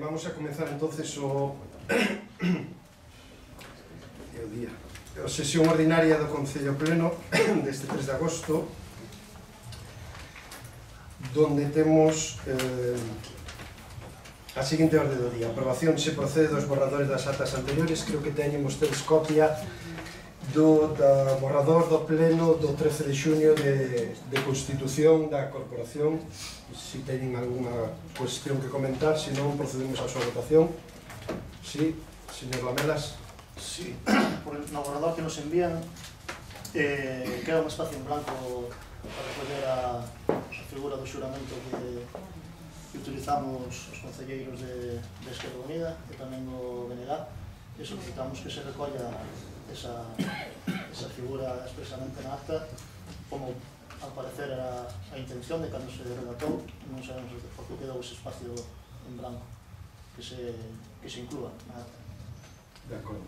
Vamos a comenzar entonces a sesión ordinaria do Concello Pleno deste 3 de agosto, donde temos a seguinte orde do día: aprobación se procede dos borradores das actas anteriores. Creo que teñen vostedes copia do borrador do pleno do 13 de xuño de constitución da corporación. Si teñen algunha cuestión que comentar, se non procedemos á súa votación. Sí, señor Lamelas. Sí, no borrador que nos envían queda un espacio en blanco para recoller a figura do xuramento que utilizamos os concelleiros de Esquerda Unida e tamén do BNG, e solicitamos que se recolla esa figura expresamente na acta, como al parecer era a intención de cando se redactou. Non sabemos por que quedou ese espacio en blanco que se inclúa na acta. De acordo.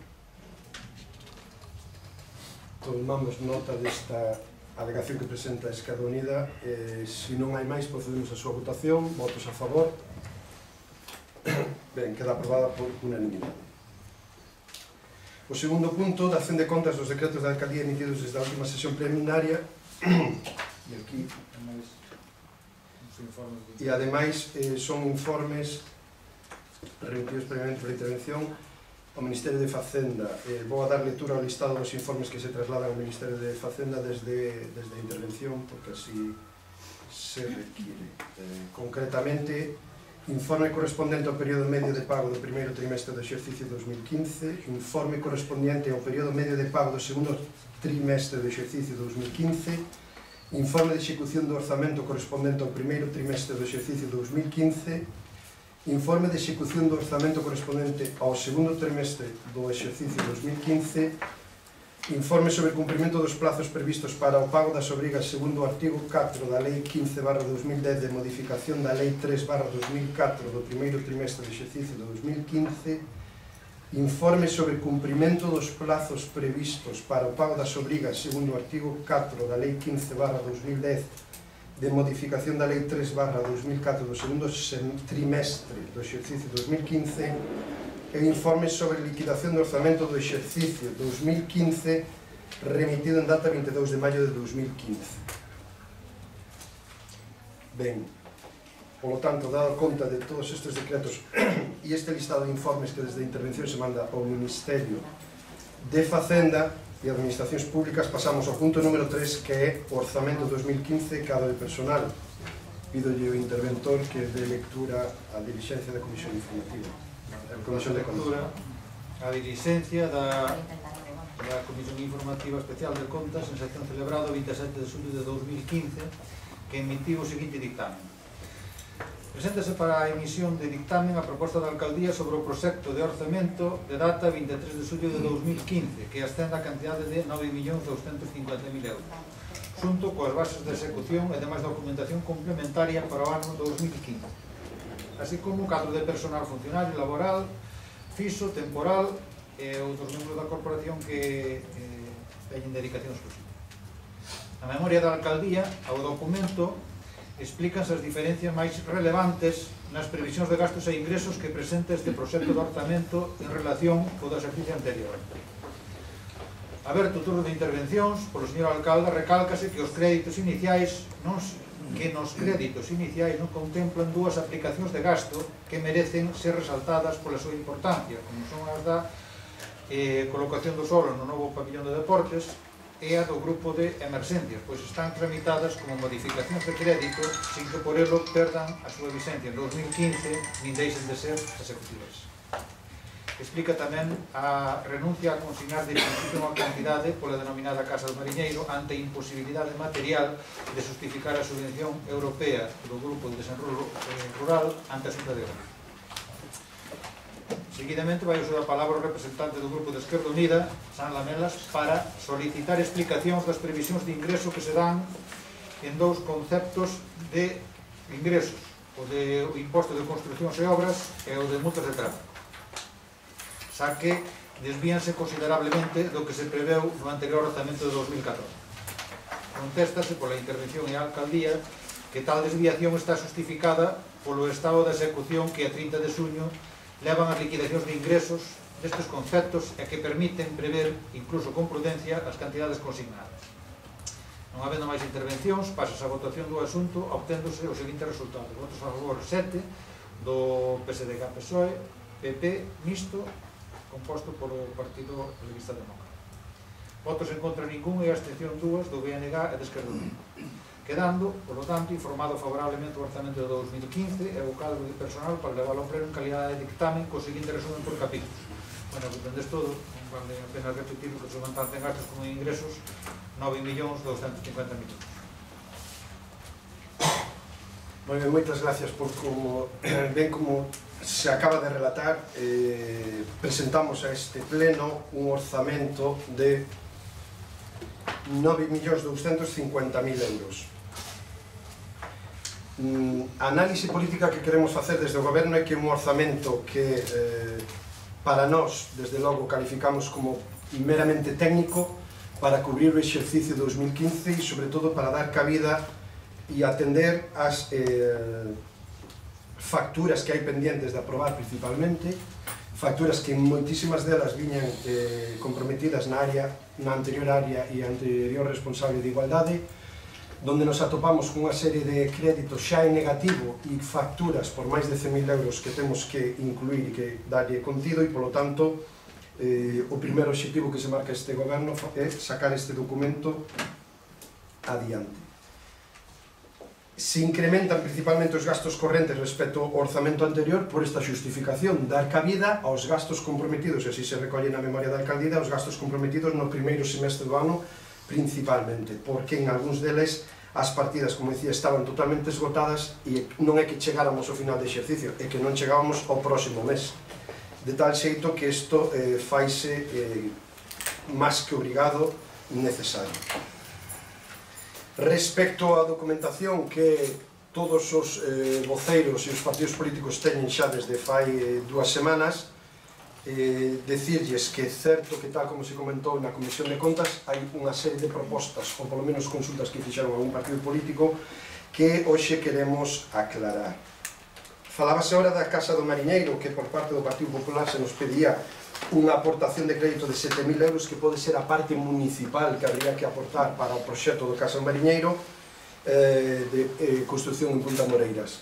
Tomamos nota desta alegación que presenta a Esquerda Unida. Se non hai máis, procedemos a súa votación. Votos a favor. Ben, queda aprobada por unanimidade. O segundo punto, da acción de contas dos decretos da alcaldía emitidos desde a última sesión plenaria. E aquí, e ademais son informes remitidos previamente por intervención ao Ministerio de Facenda. Vou a dar lectura ao listado dos informes que se trasladan ao Ministerio de Facenda desde a intervención, porque así se requiere. Concretamente, informe correspondente ao período medio de pago do primeiro trimestre do exercicio 2015, informe correspondiente ao período medio de pago do segundo trimestre do exercicio 2015, informe de execución do orzamento correspondente ao primeiro trimestre do exercicio 2015, informe de execución do orzamento correspondente ao segundo trimestre do exercicio 2015, informe sobre o cumprimento dos plazos previstos para o pago das obrigas segundo o artigo 4 da Lei 15/2010 de modificación da Lei 3/2004 do primeiro trimestre do exercicio 2015, informe sobre o cumprimento dos plazos previstos para o pago das obrigas segundo o artigo 4 da Lei 15/2010 de modificación da Lei 3/2004 do segundo trimestre do exercicio 2015 e informe sobre liquidación do orzamento do exercicio 2015 remitido en data 22 de maio de 2015. Ben, polo tanto, dado conta de todos estes decretos e este listado de informes que desde a intervención se manda ao Ministerio de Facenda e Administracións Públicas, pasamos ao punto número 3, que é o orzamento 2015 cadro de personal. Pidolle ao interventor que dé lectura á dirixencia da Comisión Informativa. A Comisión de Contas. A dirixencia da Comisión Informativa Especial de Contas en sección celebrado o 27 de xullo de 2015, que emitiu o seguinte dictamen. Preséntase para a emisión de dictamen a proposta da Alcaldía sobre o proxecto de orzamento de data 23 de xullo de 2015, que ascende a cantidade de 9.250.000 euros, xunto coas bases de execución e demais documentación complementaria para o ano 2015, así como o cadro de personal funcionario, laboral, fixo, temporal e outros membros da corporación que teñen dedicación exclusiva. Na memoria da Alcaldía, ao documento, explícanse as diferencias máis relevantes nas previsións de gastos e ingresos que presenta este proxecto de orzamento en relación co do exercicio anterior. Aberto o turno de intervencións, polo señor alcalde, recálcase que os créditos iniciais non contemplan dúas aplicacións de gasto que merecen ser resaltadas pola súa importancia, como son as da colocación do solo no novo pabillón de deportes e a do grupo de emerxencias, pois están tramitadas como modificacións de crédito sin que por elo perdan a súa vigencia en 2015 nin deixen de ser executivas. Explica tamén a renuncia a consignar de principio unha cantidade pola denominada Casa do Mariñeiro ante a imposibilidade material de justificar a subvención europea do Grupo de Desenvolvemento Rural ante a Xunta de Galicia. Seguidamente vai usar a palabra o representante do Grupo de Esquerda Unida, San Lamelas, para solicitar explicacións das previsións de ingreso que se dan en dous conceptos de ingresos, o de imposto de construcións e obras e o de multas de tráfico, xa que desvíanse considerablemente do que se preveu no anterior orzamento de 2014. Contéstase pola intervención e a alcaldía que tal desviación está justificada polo estado de execución que a 30 de xuño levan as liquidacións de ingresos destes conceptos e que permiten prever, incluso con prudencia, as cantidades consignadas. Non habendo máis intervencións, pasas a votación do asunto obténdose o seguinte resultado: votos a favor 7 do PSDG-PSOE, PP mixto, composto polo Partido Galeguista Demócrata. Votos en contra ningún e a abstención 2 do BNG e de Esquerda Unida. Quedando, polo tanto, informado favorablemente o orzamento de 2015 e o cadro de personal para leválo ao pleno en calidade de dictamen co seguinte resumen por capítulos. Bueno, que entendes todo, non vale a pena repetir que son tanto en gastos como en ingresos, 9.250.000 euros. Moi ben, moitas gracias por como ben como se acaba de relatar. Presentamos a este pleno un orzamento de 9.250.000 euros. A análise política que queremos facer desde o goberno é que un orzamento que para nós, desde logo, calificamos como meramente técnico para cubrir o exercicio 2015 e, sobre todo, para dar cabida e atender as facturas que hai pendientes de aprobar principalmente, facturas que moitísimas delas viñan comprometidas na anterior área e anterior responsable de igualdade, donde nos atopamos con unha serie de créditos xa en negativo e facturas por máis de 100.000 euros que temos que incluir e que darlle contido, e polo tanto o primeiro obxectivo que se marca este goberno é sacar este documento adiante. Se incrementan principalmente os gastos correntes respecto ao orzamento anterior por esta xustificación, dar cabida aos gastos comprometidos, e así se recolle na memoria da alcaldía, os gastos comprometidos no primeiro semestre do ano principalmente, porque en algúns deles as partidas, como dicía, estaban totalmente esgotadas e non é que chegáramos ao final de exercicio, é que non chegábamos ao próximo mes, de tal xeito que isto faise máis que obrigado necesario. Respecto á documentación que todos os voceiros e os partidos políticos teñen xa desde fai 2 semanas, decirlles que é certo que, tal como se comentou na Comisión de Contas, hai unha serie de propostas, ou polo menos consultas que fixeron algún partido político, que hoxe queremos aclarar. Falábase ahora da Casa do Mariñeiro, que por parte do Partido Popular se nos pedía unha aportación de crédito de 7.000 euros, que pode ser a parte municipal que habría que aportar para o proxecto do Casa do Mariñeiro de construcción en Punta Moreiras.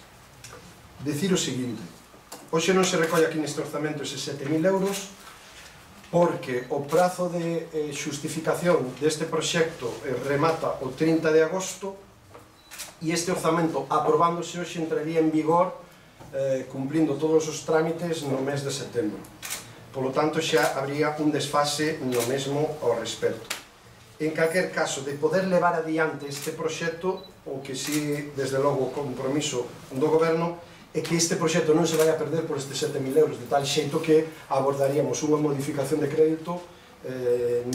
Decir o seguinte: hoxe non se recolle aquí neste orzamento eses 7.000 euros porque o prazo de xustificación deste proxecto remata o 30 de agosto e este orzamento, aprobándose hoxe, entraría en vigor cumplindo todos os trámites no mes de setembro. Polo tanto, xa habría un desfase no mesmo ao respecto. En calquer caso, de poder levar adiante este proxecto, o que si, desde logo, o compromiso do goberno é que este proxecto non se vai a perder por estes 7.000 euros, de tal xeito que abordaríamos unha modificación de crédito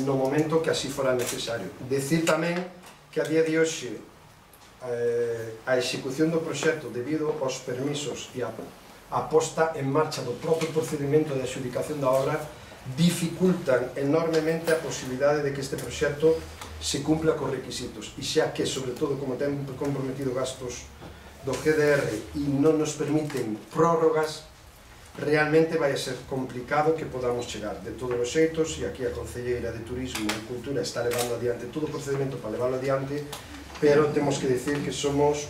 no momento que así fora necesario. Decir tamén que a día de hoxe a execución do proxecto, debido aos permisos e a posta en marcha do propio procedimento de adxudicación da obra, dificultan enormemente a posibilidade de que este proxecto se cumpla cos requisitos, e xa que, sobre todo, como ten comprometido gastos do GDR e non nos permiten prórrogas, realmente vai a ser complicado que podamos chegar. De todos os xeitos, e aquí a Concelleira de Turismo e Cultura está levando adiante todo o procedimento para leválo adiante, pero temos que decir que somos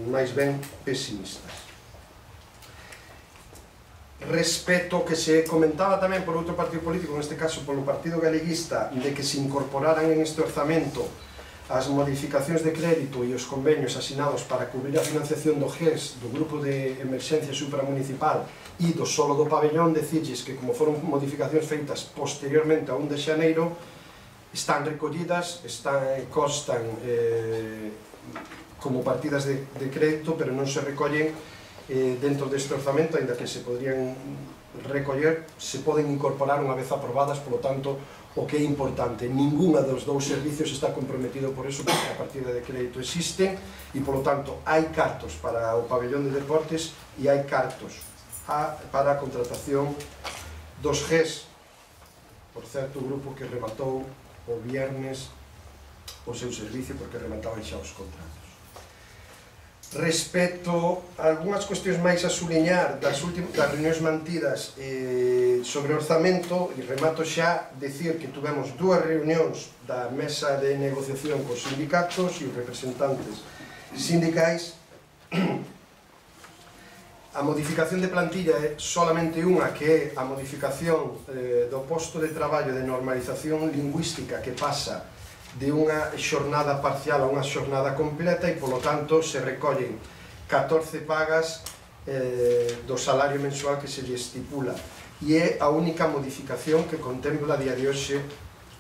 máis ben pesimistas. Respecto que se comentaba tamén por outro partido político, neste caso polo Partido Galeguista, de que se incorporaran en este orzamento as modificacións de crédito e os convenios asinados para cubrir a financiación do GES, do Grupo de Emerxencia Supramunicipal e do solo do pabellón, decirles que, como foron modificacións feitas posteriormente a 1 de xaneiro, están recollidas, constan como partidas de crédito, pero non se recollen dentro deste orzamento, ainda que se podrían recoller, se poden incorporar unha vez aprobadas. Polo tanto, o que é importante, ningunha dos dous servicios está comprometido por eso, porque a partida de crédito existe, e polo tanto hai cartos para o pabellón de deportes e hai cartos para a contratación dos GES, por certo, o grupo que rematou o viernes o seu servicio, porque remataban xa os contratos. Respecto a algunhas cuestións máis a suliñar das reunións mantidas sobre orzamento, e remato xa decir que tuvemos 2 reunións da mesa de negociación cos sindicatos e os representantes sindicais. A modificación de plantilla é solamente unha, que é a modificación do posto de traballo de normalización lingüística, que pasa de unha xornada parcial a unha xornada completa, e polo tanto se recollen 14 pagas do salario mensual que se lle estipula, e é a única modificación que contempla a día de hoxe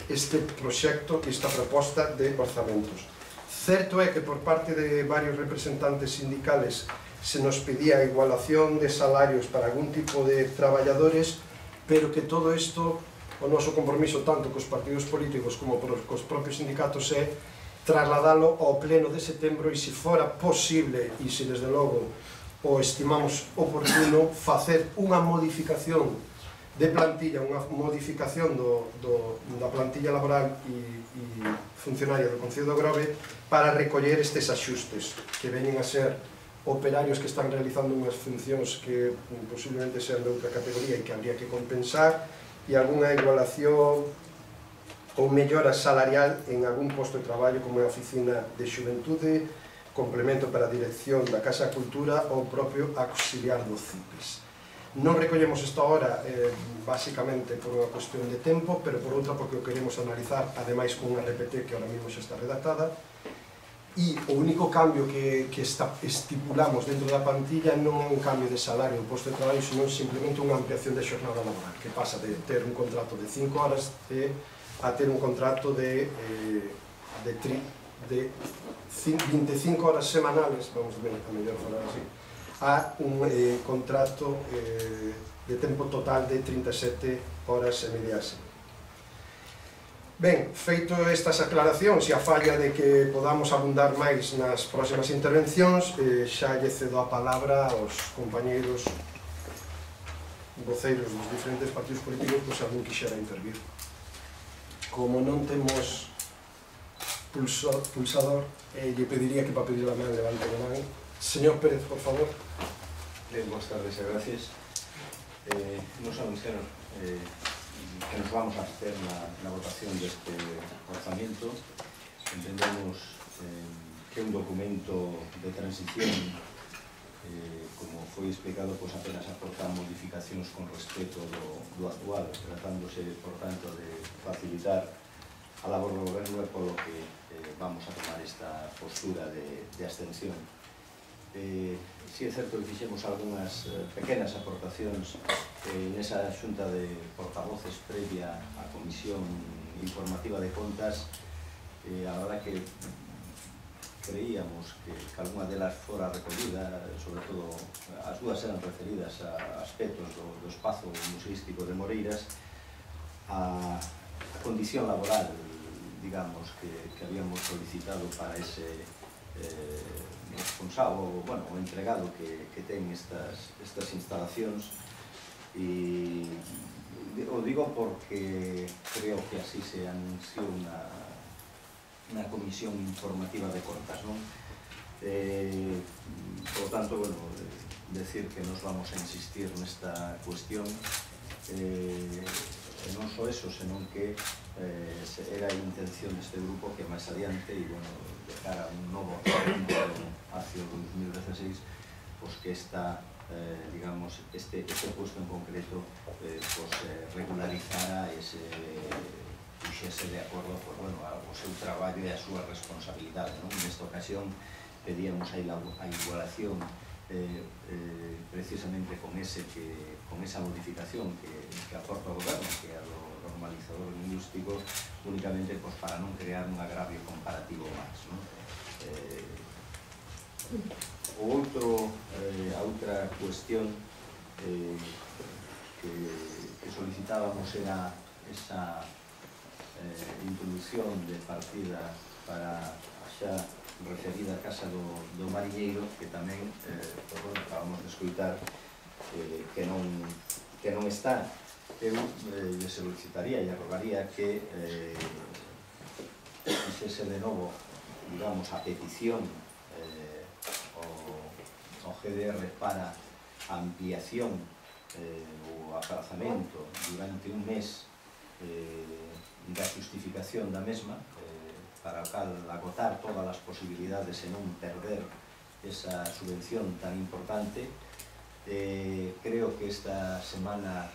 este proxecto, esta proposta de orzamentos. Certo é que por parte de varios representantes sindicales se nos pedía a igualación de salarios para algún tipo de traballadores, pero que todo isto, o noso compromiso tanto cos partidos políticos como cos propios sindicatos, é trasladalo ao pleno de setembro, e se fora posible, e se desde logo o estimamos oportuno, facer unha modificación de plantilla, unha modificación da plantilla laboral e funcionaria do Concello do Grove, para recoller estes axustes que veñen a ser operarios que están realizando unhas funcións que posiblemente sean de outra categoría e que habría que compensar, e algunha igualación ou mellora salarial en algún posto de traballo, como é a oficina de xuventude, complemento para a dirección da Casa da Cultura ou propio auxiliar do CIPES. Non recollemos esta hora basicamente por unha cuestión de tempo, pero por outra porque o queremos analizar, ademais con unha RPT que ahora mesmo xa está redactada, e o único cambio que estipulamos dentro da plantilla non é un cambio de salario ou posto de traballo, senón simplemente unha ampliación de xornada laboral, que pasa de ter un contrato de 5 horas a ter un contrato de 25 horas semanales, vamos a mellor falar así, a un contrato de tempo total de 37 horas e media a semana. Ben, feito estas aclaracións e a falla de que podamos abundar máis nas próximas intervencións, xa lle cedo a palabra aos compañeiros voceiros dos diferentes partidos políticos, pois algún quixera intervir. Como non temos pulsador, lle pediría que para pedir a man levante a man. Señor Pérez, por favor. Boas tardes e gracias. Nos anunciaron que nos vamos a hacer na votación deste orzamento. Entendemos que é un documento de transición, como foi explicado, pois apenas aporta modificacións con respecto do actual, tratándose, por tanto, de facilitar a labor do goberno, e polo que vamos a tomar esta postura de abstención. Si é certo que fixemos algunhas pequenas aportacións nesa xunta de portavoces previa á Comisión Informativa de Contas. A verdad que creíamos que algunha delas fora recollida, sobre todo as dúas eran referidas a aspectos do espazo museístico de Moreiras, a condición laboral, digamos, que habíamos solicitado para ese responsable, bueno, o entregado que ten estas instalacións, e o digo porque creo que así se anunció unha comisión informativa de contas, non? Por tanto, bueno, decir que nos vamos a insistir nesta cuestión, non só eso, senón que era a intención deste grupo que máis adiante, e, bueno, de cara a un novo hacia o 2016, pois que esta, digamos, este puesto en concreto, pois regularizara ese, puxese de acordo, pois, bueno, o seu traballo e a súa responsabilidade, non? Nesta ocasión pedíamos a igualación precisamente con esa modificación que aporta o goberno, que é a do normalizador lingüístico, únicamente para non crear un agravio comparativo máis, non? A outra cuestión que solicitábamos era esa introducción de partida para a xa referida a Casa do Mariñeiro, que tamén, acabamos de escoitar que non está. Eu lle solicitaría e rogaría que fixese de novo, digamos, a petición GDR para a ampliación ou aprazamento durante un mes da justificación da mesma, para agotar todas as posibilidades e non perder esa subvención tan importante. Creo que esta semana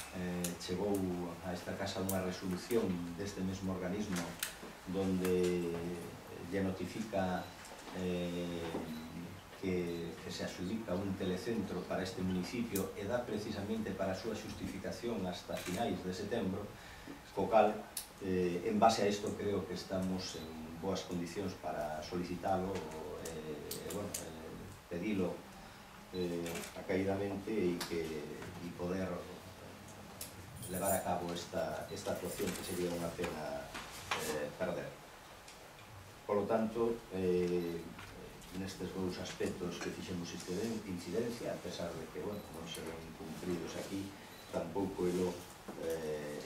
chegou a esta casa unha resolución deste mesmo organismo donde lle notifica que se adjudica un telecentro para este municipio e dá precisamente para a súa justificación hasta finais de setembro, co cal, en base a isto, creo que estamos en boas condicións para solicitalo e pedilo acaidamente e poder levar a cabo esta actuación que sería unha pena perder. Por lo tanto, nestes dous aspectos que fixemos incidencia, a pesar de que non se ven cumpridos aquí, tampouco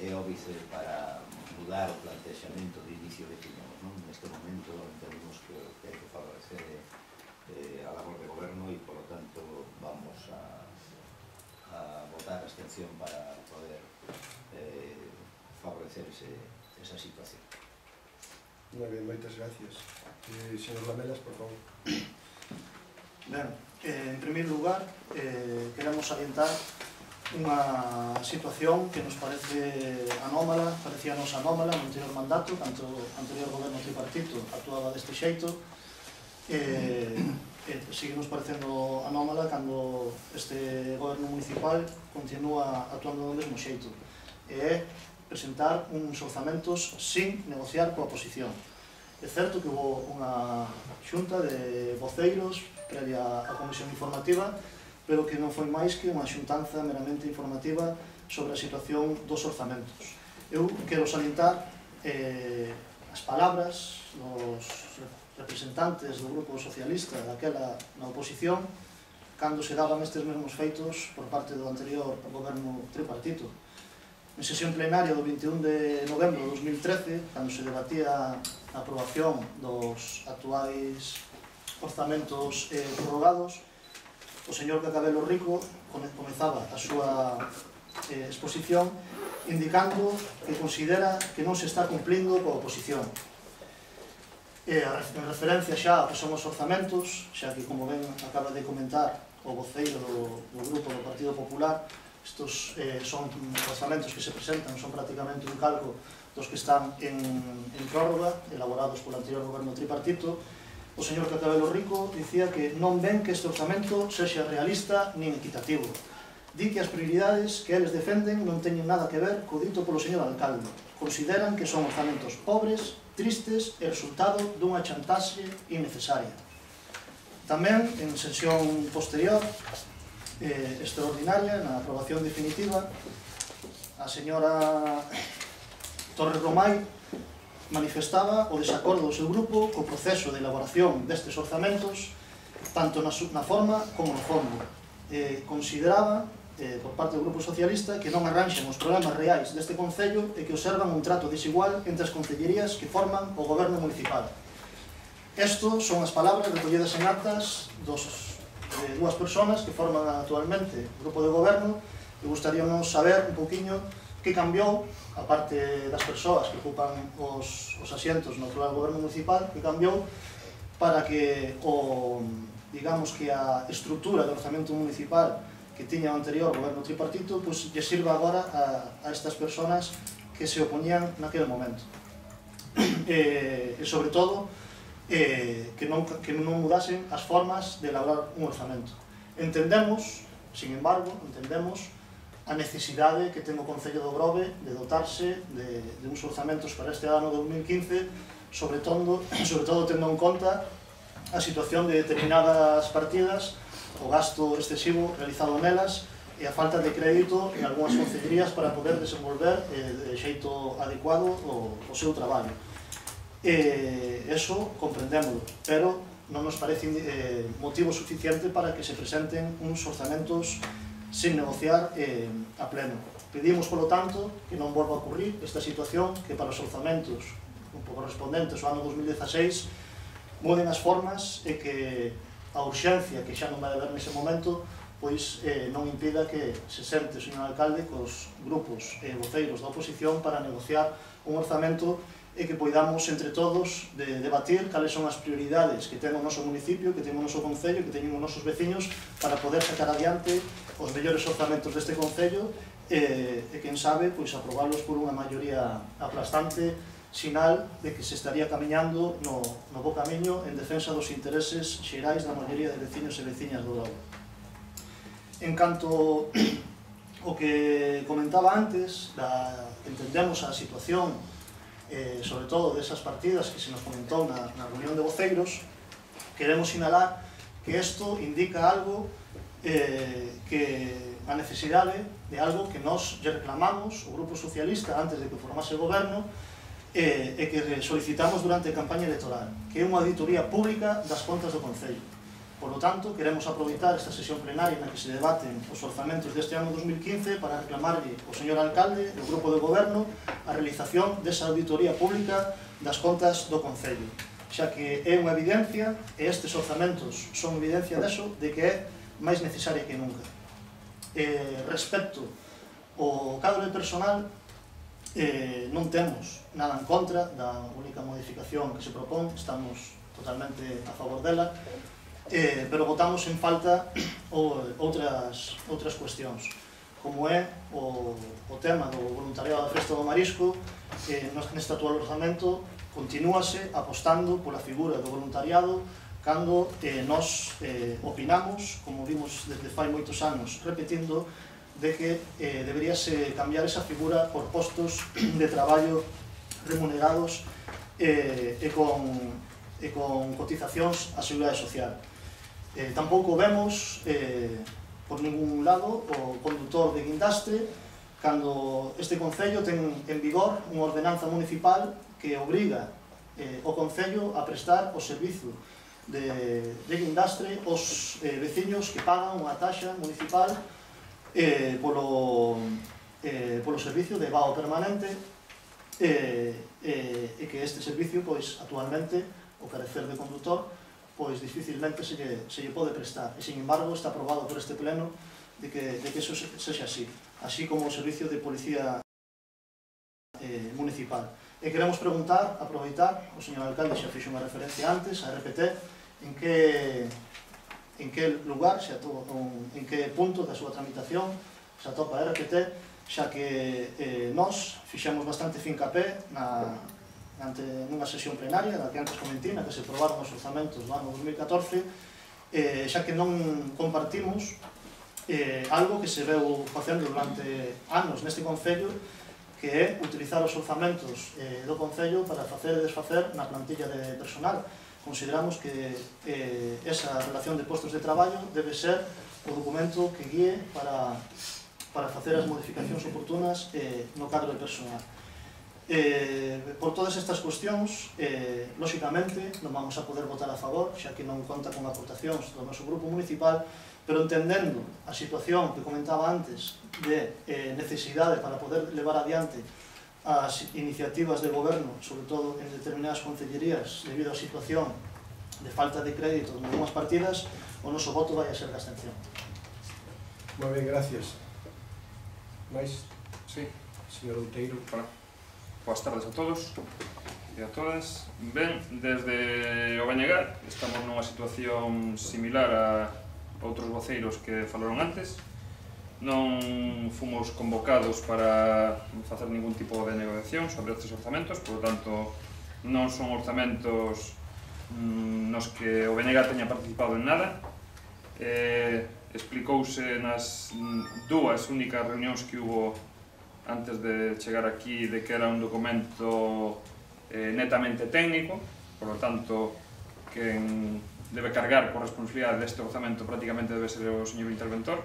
é óbice para mudar o plantexamento de inicio que tiñamos. Neste momento entendemos que hai que favorecer a labor de goberno e, por lo tanto, vamos a votar a abstención para poder favorecer esa situación. Moi ben, moitas gracias. Señor Lamelas, por favor. Ben, en primeiro lugar, queremos salientar unha situación que nos parece anómala, parecíanos anómala no anterior mandato, tanto o anterior goberno tripartito actuaba deste xeito, sigue nos parecendo anómala cando este goberno municipal continúa actuando do mesmo xeito, e é presentar uns orzamentos sin negociar coa oposición. É certo que houve unha xunta de voceiros previa á comisión informativa, pero que non foi máis que unha xuntanza meramente informativa sobre a situación dos orzamentos. Eu quero salientar as palabras dos representantes do Grupo Socialista daquela na oposición cando se daban estes mesmos feitos por parte do anterior goberno tripartito. En sesión plenaria do 21 de novembro de 2013, cando se debatía a aprobación dos actuais orzamentos prorrogados, o señor Cacabelo Rico comezaba a súa exposición indicando que considera que non se está cumplindo coa oposición. En referencia xa ao que son os orzamentos, xa que, como ben acaba de comentar o voceiro do Grupo do Partido Popular, estos son orzamentos que se presentan, son prácticamente un calco dos que están en prórroga, elaborados polo anterior goberno tripartito. O señor Cacabelo Rico dicía que non ven que este orzamento sexa realista nin equitativo. Di que as prioridades que eles defenden non teñen nada que ver co dito polo señor alcalde. Consideran que son orzamentos pobres, tristes e resultado dunha chantaxe innecesaria. Tamén, en sesión posterior, extraordinaria, na aprobación definitiva, a señora Torres Romai manifestaba o desacordo do seu grupo co proceso de elaboración destes orzamentos, tanto na forma como no fondo. Consideraba, por parte do Grupo Socialista, que non arranxan os problemas reais deste concello e que observan un trato desigual entre as concellerías que forman o goberno municipal. Estos son as palabras recollidas en actas de dúas persoas que forman actualmente o grupo de goberno, e gustaríamos saber un poquinho que cambiou, aparte das persoas que ocupan os asientos no actual goberno municipal, que cambiou para que digamos que a estrutura do orzamento municipal que tiña o anterior goberno tripartito lle sirva agora a estas persoas que se opoñían naquele momento. E sobre todo que non mudasen as formas de elaborar un orzamento. Entendemos, sin embargo, a necesidade que ten o Concello do Grove de dotarse de uns orzamentos para este ano 2015, sobre todo tendo en conta a situación de determinadas partidas, o gasto excesivo realizado nelas e a falta de crédito en algunhas concellerías para poder desenvolver de xeito adecuado o seu traballo. Eso comprendémoslo, pero non nos parece motivo suficiente para que se presenten uns orzamentos sin negociar a pleno. Pedimos, polo tanto, que non volva a ocurrir esta situación, que para os orzamentos correspondentes ao ano 2016 muden as formas e que a urxencia que xa non vai haber nese momento pois non impida que se sente o señor alcalde cos grupos e voceiros da oposición para negociar un orzamento e que poidamos entre todos debatir cales son as prioridades que ten o noso municipio, que ten o noso concello, que teñen os nosos veciños para poder sacar adiante os mellores orzamentos deste concello e quen sabe, pois aprobalos por unha maioría aplastante, sinal de que se estaría camiñando no bo camiño en defensa dos intereses xerais da maioría de veciños e veciñas do Grove. En canto o que comentaba antes, entendemos a situación sobre todo desas partidas que se nos comentou na reunión de voceiros, queremos sinalar que isto indica algo que a necesidade de algo que nós lle reclamamos o Grupo Socialista antes de que formase o goberno e que solicitamos durante a campaña electoral, que é unha auditoría pública das contas do Concello. Por lo tanto, queremos aproveitar esta sesión plenaria na que se debaten os orzamentos deste ano 2015 para reclamarlle ao señor alcalde e ao grupo de goberno a realización desa auditoría pública das contas do Concello, xa que é unha evidencia, e estes orzamentos son evidencia deso, de que é máis necesaria que nunca. Respecto ao cadro de personal, non temos nada en contra da única modificación que se propón, estamos totalmente a favor dela, pero votamos en falta outras cuestións, como é o tema do voluntariado da Festa do Marisco. Neste actual orzamento continúase apostando pola figura do voluntariado cando nós opinamos, como vimos desde fai moitos anos repetindo, de que deberíase cambiar esa figura por postos de traballo remunerados e con cotizacións á Seguridade Social. Tampouco vemos por ningún lado o condutor de guindastre cando este Concello ten en vigor unha ordenanza municipal que obriga o Concello a prestar o servizo de guindastre aos veciños que pagan unha taxa municipal polo servicio de vao permanente e que este servicio, pois, actualmente, o carecer de condutor, pois dificilmente se lle pode prestar. E, sin embargo, está aprobado por este pleno de que eso sexa así, así como o servicio de policía municipal. E queremos preguntar, aproveitar, o señor alcalde xa fixo unha referencia antes, a RPT, en que lugar, en que punto da súa tramitación se atopa a RPT, xa que nós fixemos bastante fincapé nunha sesión plenaria, na que antes comentei, na que se aprobaron os orzamentos do ano 2014, xa que non compartimos algo que se veu facendo durante anos neste Concello, que é utilizar os orzamentos do Concello para facer e desfacer na plantilla de personal. Consideramos que esa relación de postos de traballo debe ser o documento que guíe para facer as modificacións oportunas no cadro de personal. Por todas estas cuestións, lóxicamente, non vamos a poder votar a favor, xa que non conta con aportacións do noso grupo municipal, pero entendendo a situación que comentaba antes de necesidade para poder levar adiante as iniciativas de goberno, sobre todo en determinadas concellerías, debido á situación de falta de crédito en algunhas partidas, o noso voto vai a ser de abstención. Moi ben, gracias. Mais? Sí. Señor Outeiro. Hola. Boas tardes a todos e a todas. Ben, desde o Bañegar estamos nunha situación similar a outros voceiros que falaron antes. Non fomos convocados para facer ningún tipo de negociación sobre estes orzamentos, por lo tanto, non son orzamentos nos que o BNG teña participado en nada. Explicouse nas dúas únicas reunións que hubo antes de chegar aquí de que era un documento netamente técnico, por lo tanto, quen debe cargar por responsabilidade deste orzamento prácticamente debe ser o señor interventor.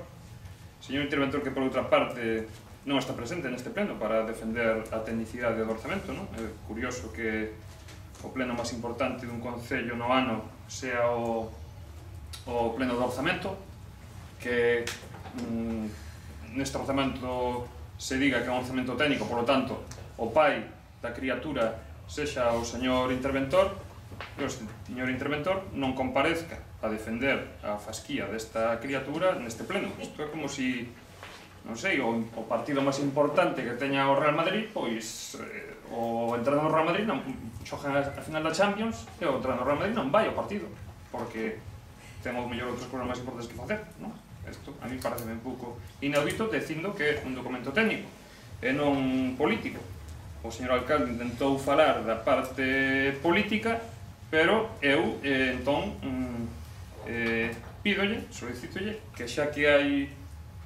Señor interventor que, por outra parte, non está presente neste pleno para defender a tecnicidade do orzamento, non? É curioso que o pleno máis importante dun concello no ano sea o pleno do orzamento, que neste orzamento se diga que é un orzamento técnico, por lo tanto, o pai da criatura sexa o señor interventor, que o señor interventor non comparezca a defender a fasquía desta criatura neste pleno. Isto é como si, non sei, o partido máis importante que teña o Real Madrid, pois o entrenador do Real Madrid non xoga a final da Champions e o entrenador do Real Madrid non vai ao partido, porque temos mellor outras cousas máis importantes que facer, non? Isto a mí parece un pouco inaudito, dicindo que é un documento técnico e non político. O señor alcalde intentou falar da parte política, pero eu, entón, pídolle, solicitolle, que xa que hai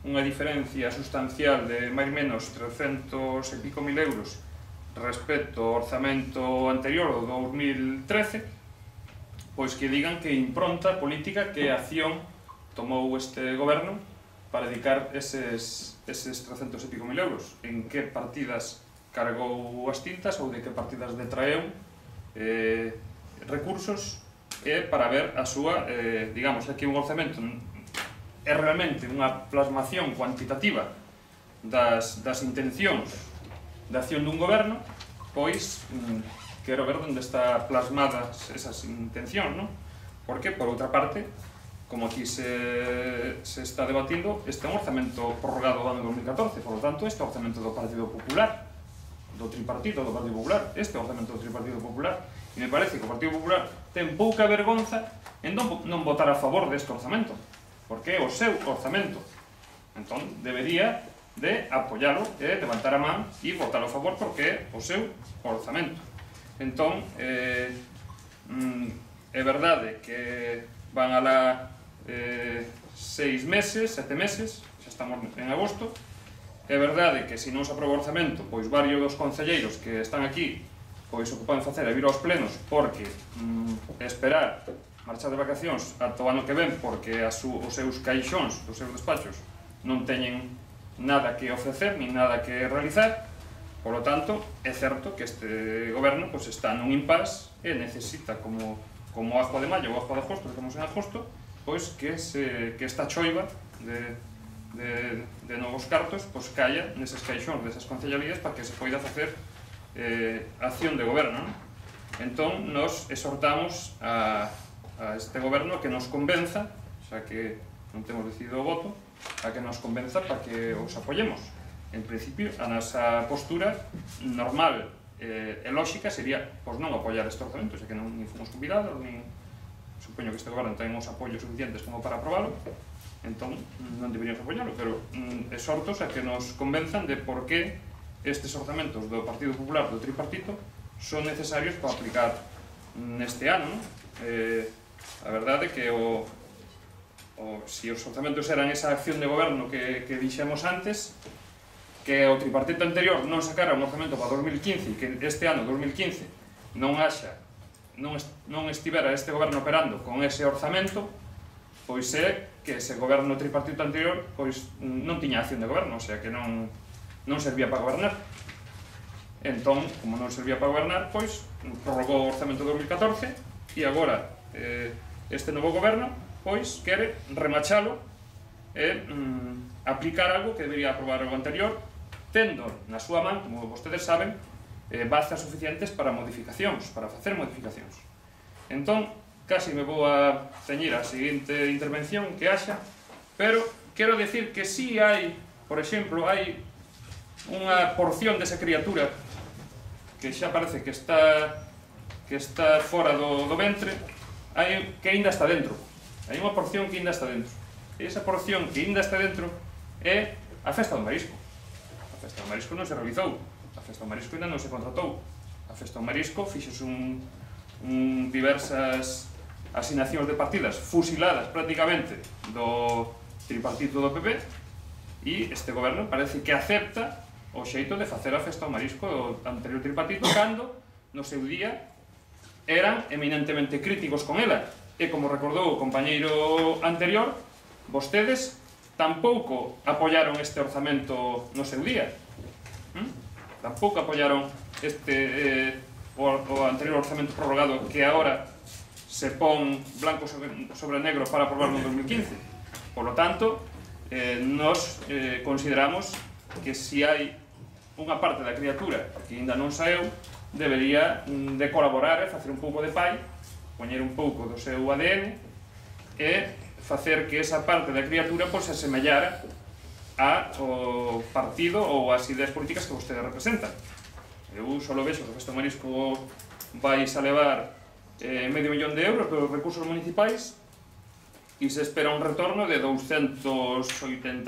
unha diferencia sustancial de máis menos 300 e pico mil euros respecto ao orzamento anterior, o 2013, pois que digan que impronta política, que acción tomou este goberno para dedicar eses 300 e pico mil euros, en que partidas cargou as tintas ou de que partidas detraeu recursos para ver a súa, digamos, aquí un orzamento é realmente unha plasmación cuantitativa das intencións de acción dun goberno, pois quero ver onde está plasmadas esas intencións, non? Porque, por outra parte, como aquí se está debatindo, este é un orzamento prorrogado do ano 2014, por lo tanto, este é o orzamento do Partido Popular, do tripartito do Partido Popular, este é o orzamento do tripartito popular, e me parece que o Partido Popular ten pouca vergonza en non votar a favor deste orzamento, porque é o seu orzamento. Entón, debería de apoialo e levantar a man e votar a favor porque é o seu orzamento. Entón, é verdade que van alá 6 meses, 7 meses, xa estamos en agosto. É verdade que se non se aproba o orzamento, pois varios dos concelleiros que están aquí pois o que poden facer é vir aos plenos porque esperar marchar de vacacións ata o ano que ven porque os seus caixóns, os seus despachos non teñen nada que ofrecer ni nada que realizar. Por lo tanto, é certo que este goberno pois está nun impasse e necesita como ajo de maio ou ajo de agosto, que estamos en agosto, pois que esta choiva de novos cartos pois caia neses caixóns desas concellerías para que se poida facer acción de goberno. Entón, nos exhortamos a este goberno que nos convenza, xa que non temos decidido o voto, a que nos convenza para que os apoyemos. En principio, a nosa postura normal e lógica sería pois non apoiar este orzamento, xa que non fomos convidados, nin supoño que este goberno ten os apoios suficientes como para aprobalo, entón non deberíamos apoiarlo, pero exhortos a que nos convenzan de por que estes orzamentos do Partido Popular do tripartito son necesarios para aplicar neste ano. A verdade é que se os orzamentos eran esa acción de goberno que dixemos antes, que o tripartito anterior non sacara un orzamento para 2015 e que este ano, 2015, non estivera este goberno operando con ese orzamento, pois é que ese goberno tripartito anterior pois non tiña acción de goberno, o sea que non servía para gobernar. Entón, como non servía para gobernar, pois prorrogou o orzamento de 2014 e agora este novo goberno pois quere remachalo e aplicar algo que debería aprobar o anterior, tendo na súa man, como vostedes saben, bazas suficientes para modificacións, para facer modificacións. Entón, casi me vou a ceñir a seguinte intervención que haxa, pero quero decir que si hai, por exemplo, hai unha porción desa criatura que xa parece que está fora do ventre, que ainda está dentro. Hai unha porción que ainda está dentro. E esa porción que ainda está dentro é a Festa do Marisco. A Festa do Marisco non se realizou, a Festa do Marisco ainda non se contratou. A Festa do Marisco fixose diversas asignacións de partidas fusiladas prácticamente do tripartito do PP e este goberno parece que acepta o xeito de facer a Festa do Marisco do anterior tripartito cando no seu día eran eminentemente críticos con ela e como recordou o compañeiro anterior, vostedes tampouco apoiaron este orzamento no seu día. Tampouco apoiaron o anterior orzamento prorrogado que agora se pon blanco sobre negro para aprobarlo en 2015. Por lo tanto, nos consideramos que se hai unha parte da criatura que ainda non saeu, debería de colaborar e facer un pouco de pai poñer un pouco do seu ADN e facer que esa parte da criatura se asemellara ao partido ou ás ideas políticas que vostede representa. Eu só vexo que o Festa do Marisco vais a levar medio millón de euros dos recursos municipais e se espera un retorno de 280.000.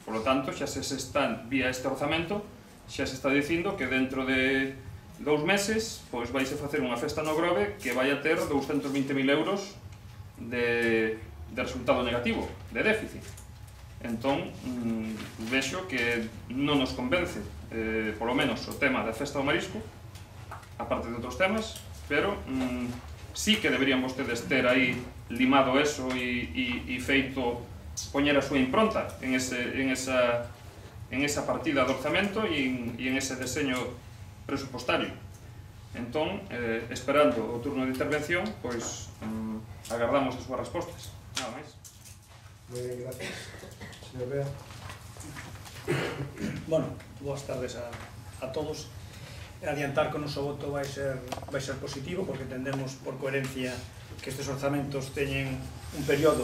Por lo tanto, xa se están, vía este orzamento, xa se está dicindo que dentro de 2 meses vais a facer unha festa no Grove que vai a ter 220.000 euros de resultado negativo, de déficit. Entón, vexo que non nos convence, polo menos, o tema da festa do marisco, aparte de outros temas, pero sí que deberían vostedes ter aí limado eso e feito poñer a súa impronta en esa partida de orzamento e en ese deseño presupostario. Entón, esperando o turno de intervención, pois agardamos as súas respostas. Nada máis. Moi ben, gracias. Señor Bea. Bueno, boas tardes a todos. Adiantar que o noso voto vai ser positivo, porque entendemos por coherencia que estes orzamentos teñen un período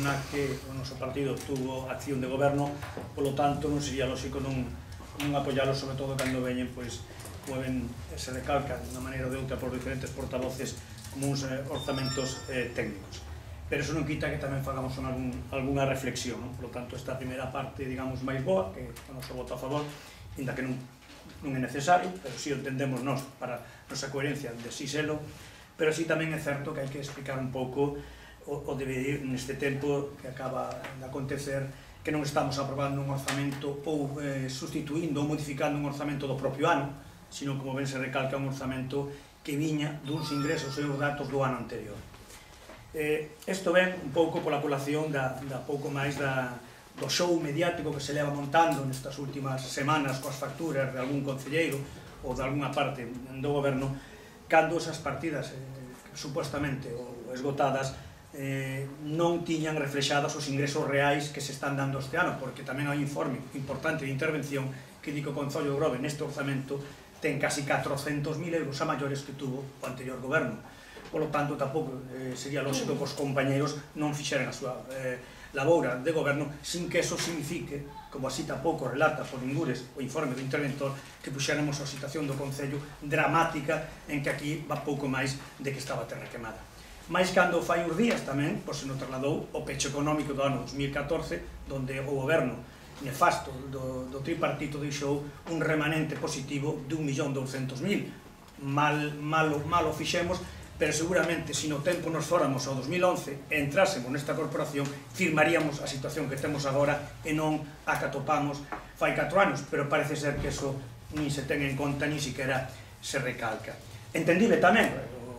na que o noso partido tuvo acción de goberno, polo tanto non sería lógico non apoiálos, sobre todo cando veñen, pois, mueven, se recalcan de unha maneira ou de outra por diferentes portavoces como uns orzamentos técnicos. Pero eso non quita que tamén fagamos algunha reflexión, non? Por lo tanto, esta primeira parte, digamos, máis boa, que o noso voto a favor, ainda que non é necesario, pero si entendemos nós para nosa coherencia de si selo, pero si tamén é certo que hai que explicar un pouco o deber neste tempo que acaba de acontecer, que non estamos aprobando un orzamento ou sustituindo ou modificando un orzamento do propio ano, sino, como ben se recalca, un orzamento que viña duns ingresos e os datos do ano anterior. Isto ven un pouco pola colación da pouco máis do show mediático que se leva montando nestas últimas semanas coas facturas de algún concelleiro ou de alguna parte do goberno, cando esas partidas supuestamente esgotadas non tiñan reflexadas os ingresos reais que se están dando este ano, porque tamén hai un informe importante de intervención que di que o Concello de Grove neste orzamento ten casi 400.000 euros a maiores que tuvo o anterior goberno. Polo tanto, tampouco sería lógico que os compañeros non fixeran a súa laboura de goberno sin que eso signifique, como así tampouco relata por ningures o informe do interventor, que puxéramos a situación do Concello dramática en que aquí va pouco máis de que estaba a terra quemada. Mais cando fai uns días tamén, pois se nos trasladou o pecho económico do ano 2014, donde o goberno nefasto do tripartito deixou un remanente positivo de 1.200.000. Mal o fixemos, pero seguramente, se no tempo nos fóramos ao 2011 e entrásemos nesta corporación, firmaríamos a situación que temos agora e non a que atopamos fai 4 anos, pero parece ser que eso nin se ten en conta, nin siquiera se recalca. Entendible tamén,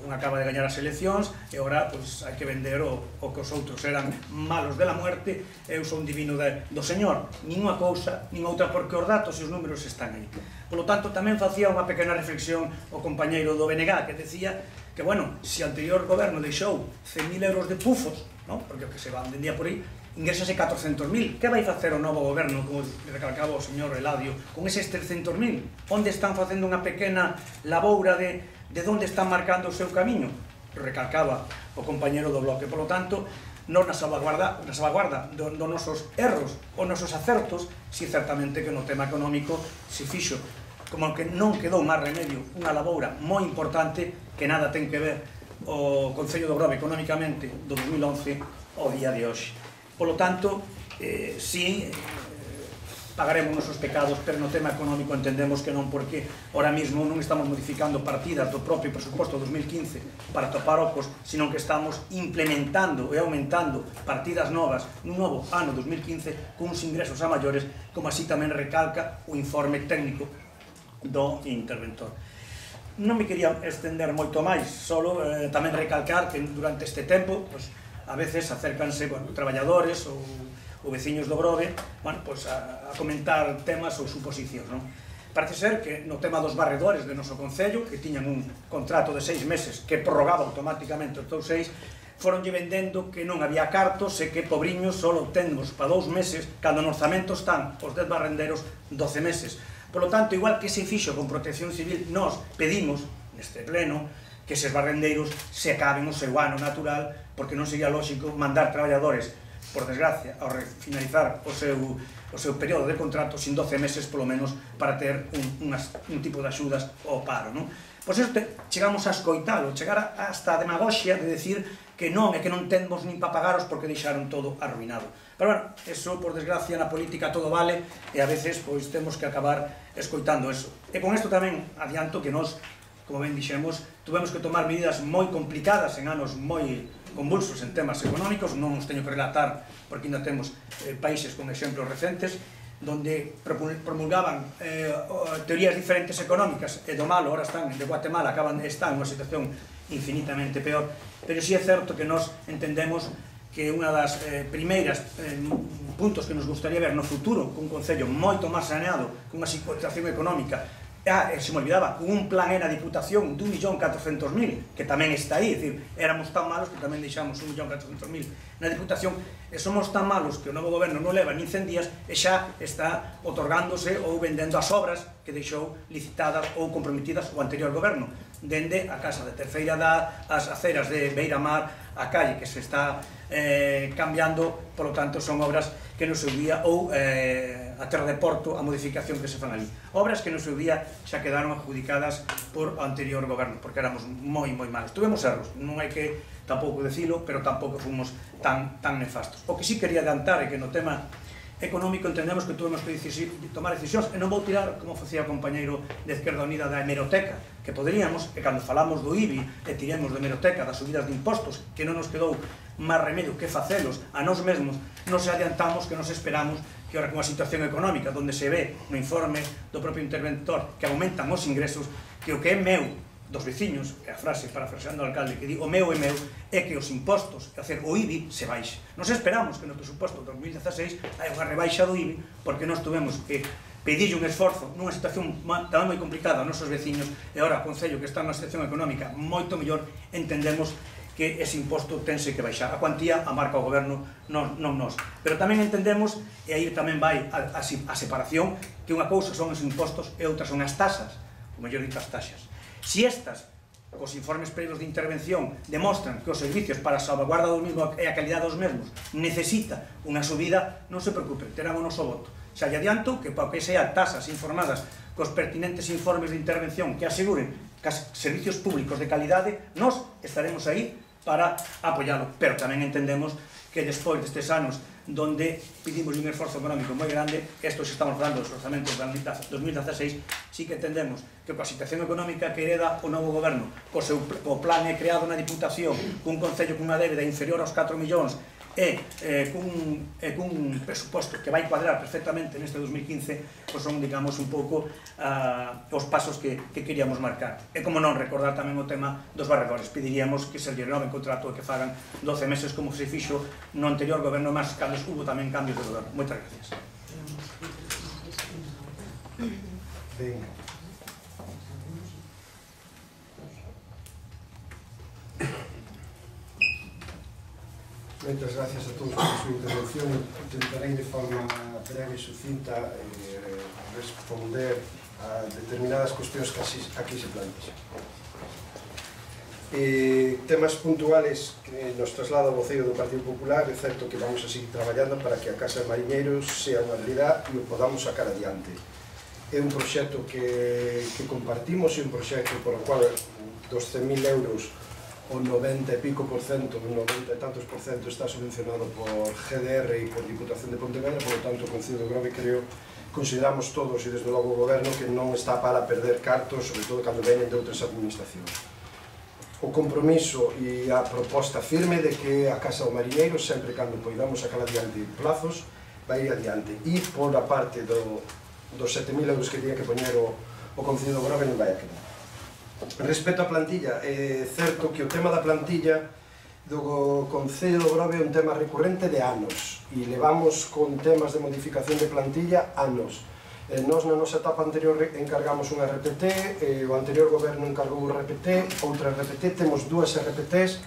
un acaba de gañar as eleccións e agora hai que vender o que os outros eran malos de la muerte, eu son divino do Señor. Nin unha cousa, nin outra, porque os datos e os números están aí. Por lo tanto, tamén facía unha pequena reflexión o compañeiro do BNG, que decía que, bueno, se o anterior goberno deixou 100.000 euros de pufos, porque o que se vendía por aí, ingresase 400.000. Que vai facer o novo goberno, como recalcaba o señor Eladio, con eses 300.000? Onde están facendo unha pequena laboura de onde están marcando o seu camiño? Recalcaba o compañero do bloque. Por lo tanto, non na salvaguarda dos nosos erros ou nosos acertos, si certamente que no tema económico se fixo, como que non quedou máis remedio, unha laboura moi importante que nada ten que ver o Concello do Grove económicamente do 2011 ao día de hoxe. Por lo tanto, sí, pagaremos nosos pecados, pero no tema económico entendemos que non, porque ahora mismo non estamos modificando partidas do propio presuposto 2015 para topar ocos, sino que estamos implementando e aumentando partidas novas nun novo ano 2015 con uns ingresos a maiores, como así tamén recalca o informe técnico do interventor. Non me quería estender moito máis, solo tamén recalcar que durante este tempo a veces acércanse traballadores ou veciños do Grove a comentar temas ou suposicións. Parece ser que no tema dos barredores de noso Concello, que tiñan un contrato de 6 meses que prorrogaba automáticamente os 6, foronlle vendendo que non había cartos e que, pobriños, só obtemos para 2 meses, cando no orzamento están os 10 barrenderos 12 meses. Por lo tanto, igual que se fixo con Protección Civil, nós pedimos neste pleno que eses barrendeiros se acaben o seu ano natural, porque non sería lógico mandar traballadores, por desgracia, ao finalizar o seu período de contrato sin 12 meses polo menos para ter un tipo de axudas ao paro, non? Pois isto chegamos a escoitalo, chegar hasta a demagoxia de decir que non, é que non temos nin para pagaros porque deixaron todo arruinado. Pero, bueno, eso, por desgracia, na política todo vale e a veces, pois, temos que acabar escoitando eso. E con isto tamén adianto que nós, como ben dixemos, tuvemos que tomar medidas moi complicadas en anos moi convulsos en temas económicos, non os teño que relatar porque ainda temos países con exemplos recentes, donde promulgaban teorías diferentes económicas e do malo, ahora están de Guatemala, están en unha situación infinitamente peor, pero sí é certo que nós entendemos que unha das primeiras puntos que nos gustaría ver no futuro, cun concello moito máis saneado, con unha situación económica, se me olvidaba, con un plan na Diputación de 1.400.000, que tamén está aí, é dicir, éramos tan malos que tamén deixamos 1.400.000 na Diputación, e somos tan malos que o novo goberno non leva ni 100 días e xa está otorgándose ou vendendo as obras que deixou licitadas ou comprometidas o anterior goberno, dende a Casa de Terceira Edad, as aceras de Beira-Mar, a calle que se está cambiando, polo tanto son obras que no seu día, ou a Terra de Porto, a modificación que se fan ali. Obras que no seu día xa quedaron adjudicadas por o anterior goberno, porque éramos moi malos. Tuvemos erros, non hai que tampouco decilo, pero tampouco fomos tan nefastos. O que sí quería adiantar é que no tema económico entendemos que tuvemos que tomar decisións, e non vou tirar, como facía o compañeiro de Izquierda Unida, da hemeroteca, que poderíamos, e cando falamos do IBI e tiremos de hemeroteca das subidas de impostos, que non nos quedou máis remedio que facelos a nós mesmos, nos adiantamos que nos esperamos que ahora con a situación económica, onde se ve no informe do propio interventor que aumentan os ingresos, que o que é meu dos veciños, é a frase parafraseando o alcalde que di o meu é meu, é que os impostos, é dizer, o IBI se baixe. Nos esperamos que no presuposto de 2016 hai unha rebaixa do IBI, porque nós tuvemos que pedirlle un esforzo nunha situación tamén moi complicada aos nosos veciños, e agora o Concello que está nunha situación económica moito mellor, entendemos que ese imposto tense que baixar. A cuantía a marca o goberno, non nós. Pero tamén entendemos, e aí tamén vai a separación, que unha cousa son os impostos e outra son as taxas, ou mellor dito as taxas. Si estas, cos informes previos de intervención, demostran que os servicios para a salvaguarda dos mesmos e a calidad dos mesmos necesita unha subida, non se preocupen, terán o noso voto. Xa lle adianto que para que sean tasas informadas cos pertinentes informes de intervención que aseguren que os servicios públicos de calidade, nós estaremos aí para apoialo, pero tamén entendemos que despois destes anos donde pedimos un esforzo económico moi grande, estos estamos falando dos orzamentos de 2016, sí que entendemos que coa situación económica que hereda o novo goberno, co plan creado na Diputación, cun concello cunha débeda inferior aos 4 millóns e cun presuposto que vai cuadrar perfectamente neste 2015, pois son, digamos, un pouco os pasos que queríamos marcar. E como non, recordar tamén o tema dos barredores. Pediríamos que se lle renove contrato e que fagan 12 meses como se fixo no anterior goberno, máis cando hubo tamén cambios de goberno. Moitas gracias. Ben. Moitas gracias a todos por a súa intervención. Intentarei de forma breve e sucinta responder a determinadas cuestións que aquí se plantexan. Temas puntuales que nos traslada o voceiro do Partido Popular. É certo que vamos a seguir traballando para que a Casa de Mariñeiros sea unha realidade e o podamos sacar adiante. É un proxecto que compartimos, é un proxecto por o cual dos 100.000 euros o 90 e pico por cento, o 90 e tantos por cento está subvencionado por GDR e por Diputación de Pontevedra, por lo tanto o Concello de Grove consideramos todos e desde logo o Goberno que non está para perder cartos, sobre todo cando venen de outras administracións. O compromiso e a proposta firme de que a Casa do Mariñeiro, sempre cando poidamos sacar adiante plazos, vai ir adiante. E por a parte dos 7.000 euros que tiña que poñer o Concello de Grove non vai a quedar. Respecto á plantilla, é certo que o tema da plantilla do Concello do Grove é un tema recurrente de anos e levamos con temas de modificación de plantilla anos. Nós na nosa etapa anterior encargamos un RPT, o anterior goberno encargou un RPT, outra RPT, temos dúas RPTs,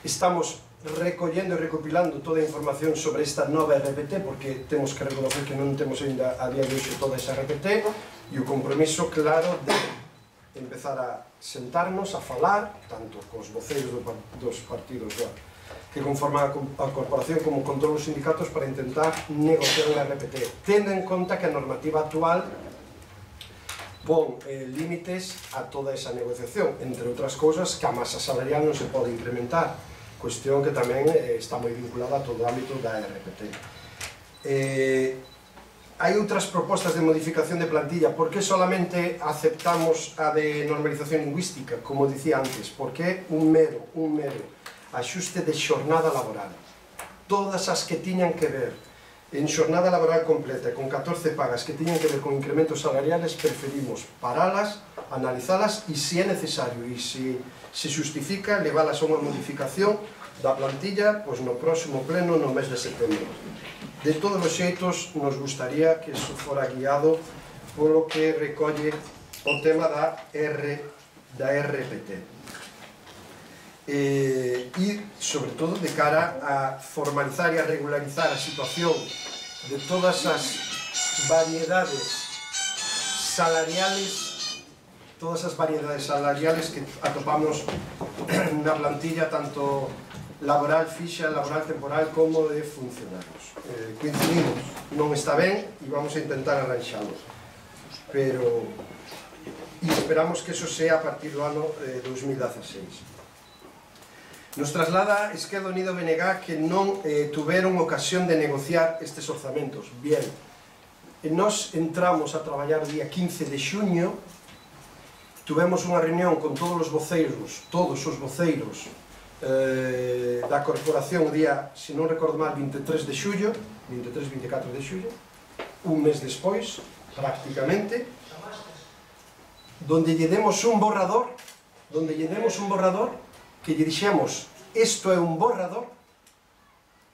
estamos recollendo e recopilando toda a información sobre esta nova RPT porque temos que reconocer que non temos ainda a día de hoxe toda esa RPT e o compromiso claro de empezar a sentarnos, a falar, tanto cos voceiros dos partidos que conforman a corporación como con todos os sindicatos para intentar negociar unha RPT, tendo en conta que a normativa actual pon límites a toda esa negociación, entre outras cousas que a masa salarial non se pode incrementar, cuestión que tamén está moi vinculada a todo o ámbito da RPT. Hai outras propostas de modificación de plantilla. Por que solamente aceptamos a de normalización lingüística, como dicía antes? Porque é un mero axuste de xornada laboral. Todas as que tiñan que ver en xornada laboral completa con 14 pagas que tiñan que ver con incrementos salariales, preferimos paralas, analizalas e, se é necesario e se justifica, leválas a unha modificación da plantilla no próximo pleno no mes de setembro. De todos os xeitos, nos gustaría que iso fora guiado polo que recolle o tema da RPT. E, sobre todo, de cara a formalizar e a regularizar a situación de todas as variedades salariales que atopamos na plantilla, tanto laboral fixa, laboral temporal, como de funcionarios. Coincidimos, non está ben e vamos a intentar arranxalo, pero esperamos que eso sea a partir do ano 2016. Nos traslada Esquerda Unida BNG que non tuveron ocasión de negociar estes orzamentos. Bien, nos entramos a traballar o día 15 de xuño, tuvemos unha reunión con todos os voceiros da corporación o día, se non recordo mal, 23 de xullo, 23-24 de xullo, un mes despois, prácticamente, donde lle demos un borrador, que lle dixemos, isto é un borrador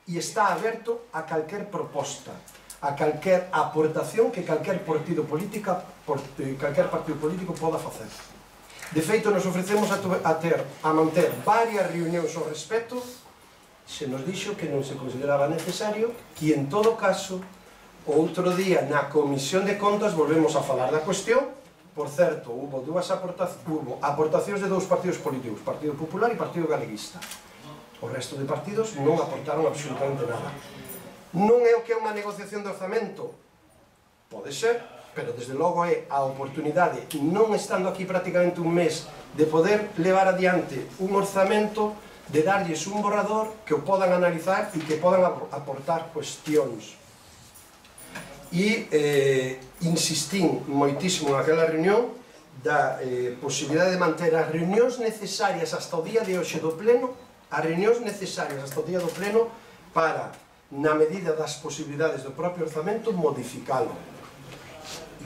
e está aberto a calquer proposta, a calquer aportación que calquer partido político poda facer. De feito, nos ofrecemos a manter varias reunións ao respecto, se nos dixo que non se consideraba necesario, e en todo caso, outro día na Comisión de Contas volvemos a falar da cuestión. Por certo, hubo aportacións de dous partidos políticos, Partido Popular e Partido Galeguista. O resto de partidos non aportaron absolutamente nada. Non é o que é unha negociación de orzamento? Pode ser, pero desde logo é a oportunidade, non estando aquí prácticamente un mes, de poder levar adiante un orzamento, de darlles un borrador que o podan analizar e que podan aportar cuestións. E insistín moitísimo naquela reunión da posibilidade de manter as reunións necesarias hasta o día de hoxe do pleno, para, na medida das posibilidades do propio orzamento, modificalo.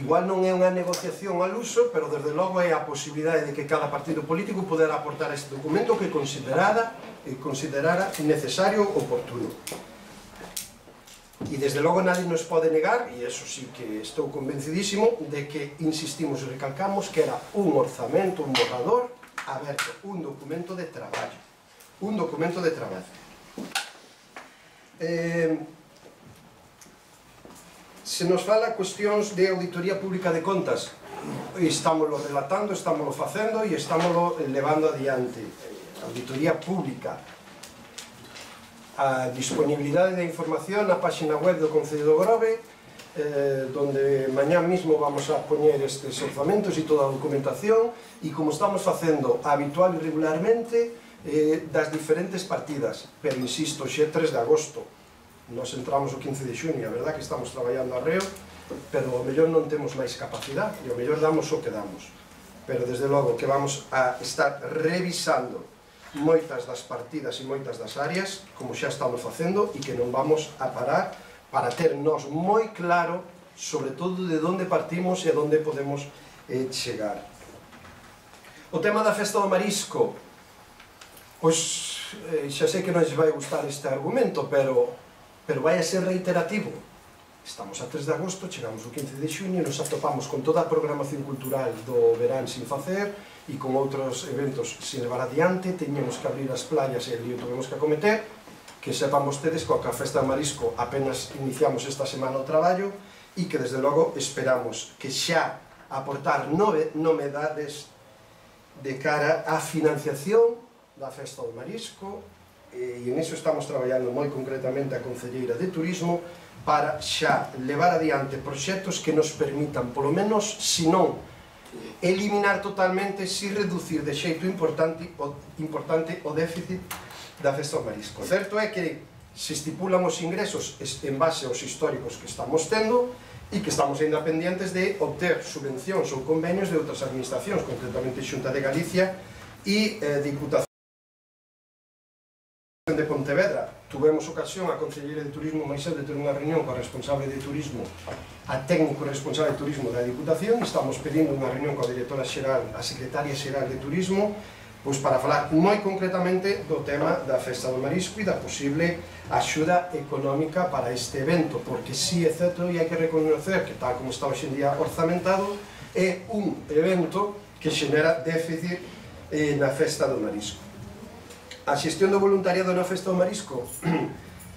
Igual non é unha negociación al uso, pero desde logo é a posibilidade de que cada partido político pudera aportar este documento que considerara necesario ou oportuno. E desde logo nadie nos pode negar, e eso sí que estou convencidísimo, de que insistimos e recalcamos que era un orzamento, un borrador aberto, un documento de traballo. Se nos fala cuestións de auditoría pública de contas, estámoslo relatando, estámoslo facendo e estámoslo levando adiante. Auditoría pública. A disponibilidade de información na página web do Concello do Grove, donde mañá mismo vamos a poñer estes orzamentos e toda a documentación, e como estamos facendo habitual e regularmente das diferentes partidas. Pero insisto, xe 3 de agosto, nos entramos o 15 de xuño, a verdad que estamos traballando arreo, pero ao mellor non temos máis capacidade, e ao mellor damos o que damos. Pero desde logo que vamos a estar revisando moitas das partidas e moitas das áreas, como xa estamos facendo, e que non vamos a parar para ter nós moi claro, sobre todo, de onde partimos e a onde podemos chegar. O tema da festa do marisco, pois xa sei que non lles vai gustar este argumento, pero vai a ser reiterativo. Estamos a 3 de agosto, chegamos o 15 de xuño, nos atopamos con toda a programación cultural do verán sin facer, e con outros eventos sin levar adiante, teñemos que abrir as playas e ali o tuvemos que acometer, que sepan vostedes que a festa de marisco apenas iniciamos esta semana o traballo e que desde logo esperamos que xa aportar novedades de cara á financiación da Festa do Marisco, e en iso estamos traballando moi concretamente a Concelleira de Turismo para xa levar adiante proxectos que nos permitan, polo menos, se non eliminar totalmente, si reducir de xeito importante o déficit da Festa do Marisco. Certo é que se estipulan os ingresos en base aos históricos que estamos tendo e que estamos ainda pendientes de obter subvencións ou convenios de outras administracións, concretamente Xunta de Galicia e Diputación de Pontevedra. Tuvemos ocasión a Concelleira de Turismo máis de ter unha reunión coa responsable de turismo, a técnico responsable de turismo da Diputación, e estamos pedindo unha reunión coa directora xeral, a secretaria xeral de turismo, pois para falar moi concretamente do tema da Festa do Marisco e da posible axuda económica para este evento, porque si é certo e hai que reconocer que tal como está hoxe en día orzamentado, é un evento que xenera déficit na Festa do Marisco. A xestión do voluntariado na Festa do Marisco,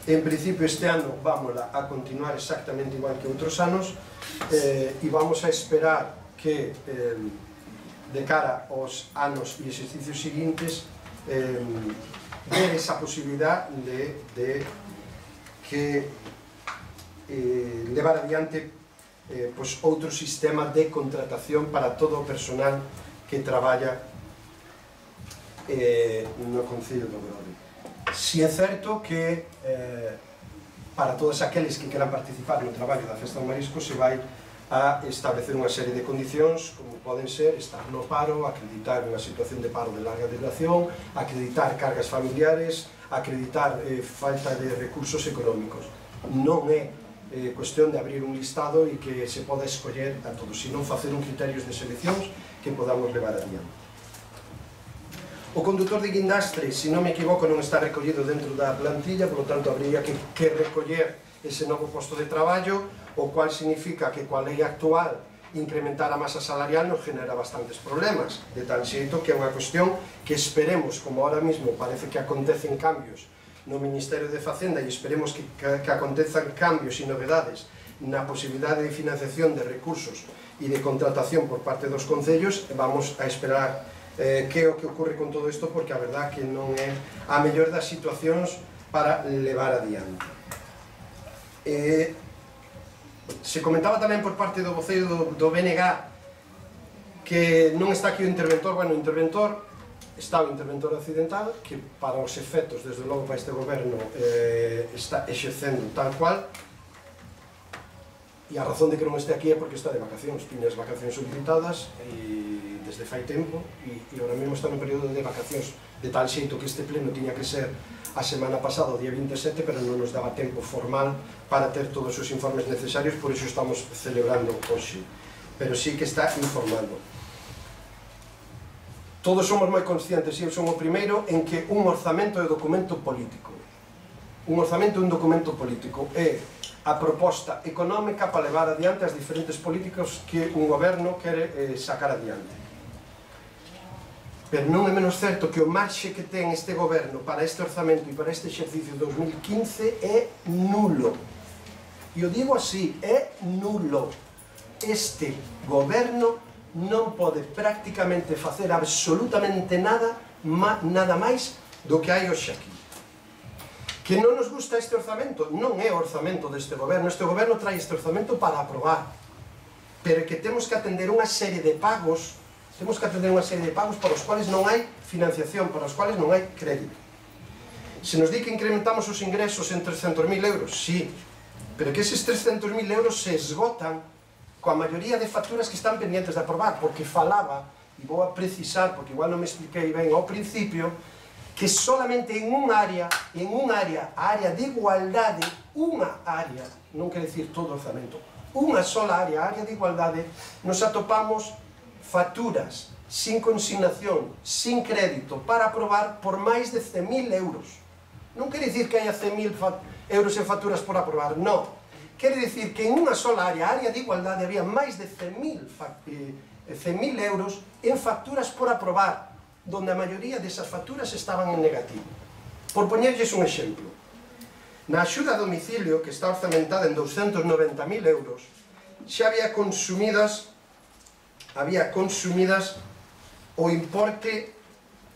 en principio este ano vamos a continuar exactamente igual que outros anos, e vamos a esperar que de cara aos anos e exercicios seguintes ver esa posibilidad de que levar adiante outro sistema de contratación para todo o personal que traballa no Concello do Grove. Si é certo que para todos aqueles que queran participar no traballo da Festa do Marisco se vai a establecer unha serie de condicións, como poden ser estar no paro, acreditar unha situación de paro de larga duración, acreditar cargas familiares, acreditar falta de recursos económicos. Non é cuestión de abrir un listado e que se poda escoller a todos, sino facer un criterios de seleccións que podamos levar adiante. O condutor de guindastre, se non me equivoco, non está recollido dentro da plantilla, por lo tanto, habría que recoller ese novo posto de traballo, o cual significa que coa lei actual incrementar a masa salarial nos genera bastantes problemas, de tal xeito que é unha cuestión que esperemos, como ahora mismo parece que acontecen cambios no Ministerio de Facenda, e esperemos que acontezan cambios e novedades na posibilidade de financiación de recursos e de contratación por parte dos concellos, vamos a esperar que é o que ocorre con todo isto, porque a verdad que non é a mellor das situacións para levar adiante. Se comentaba tamén por parte do voceiro do BNG que non está aquí o interventor. Bueno, o interventor está o interventor accidental, que para os efectos, desde logo para este goberno, está exercendo tal cual, e a razón de que non este aquí é porque está de vacacións, tiña as vacacións solicitadas desde fai tempo, e ahora mesmo está no período de vacacións, de tal xeito que este pleno tiña que ser a semana pasada, o día 27, pero non nos daba tempo formal para ter todos os informes necesarios, por iso estamos celebrando hoxe, pero sí que está informando. Todos somos moi conscientes, e eu son o primeiro, en que un orzamento é documento político. Un orzamento é un documento político, é a proposta económica para levar adiante as diferentes políticas que un goberno quere sacar adiante. Pero non é menos certo que o marxe que ten este goberno para este orzamento e para este exercicio 2015 é nulo. E o digo así, é nulo. Este goberno non pode prácticamente facer absolutamente nada máis do que hai hoxe aquí. Que non nos gusta este orzamento, non é o orzamento deste goberno. Este goberno trae este orzamento para aprobar, pero que temos que atender unha serie de pagos, para os cuales non hai financiación, para os cuales non hai crédito. Se nos di que incrementamos os ingresos en 300.000 euros, sí, pero que eses 300.000 euros se esgotan coa maioría de facturas que están pendientes de aprobar, porque falaba, e vou a precisar, porque igual non me expliquei ben ao principio, que solamente en un área, a área de igualdade, unha área, non quer decir todo o orzamento, unha sola área, a área de igualdade, nos atopamos facturas sin consignación, sin crédito, para aprobar por máis de 100.000 euros. Non quer dicir que haya 100.000 euros en facturas por aprobar, non. Quer dicir que en unha sola área, a área de igualdade, había máis de 100.000 euros en facturas por aprobar, donde a maioría desas facturas estaban en negativo. Por poñerlles un exemplo, na axuda a domicilio, que está orzamentada en 290.000 euros, xa había consumidas o importe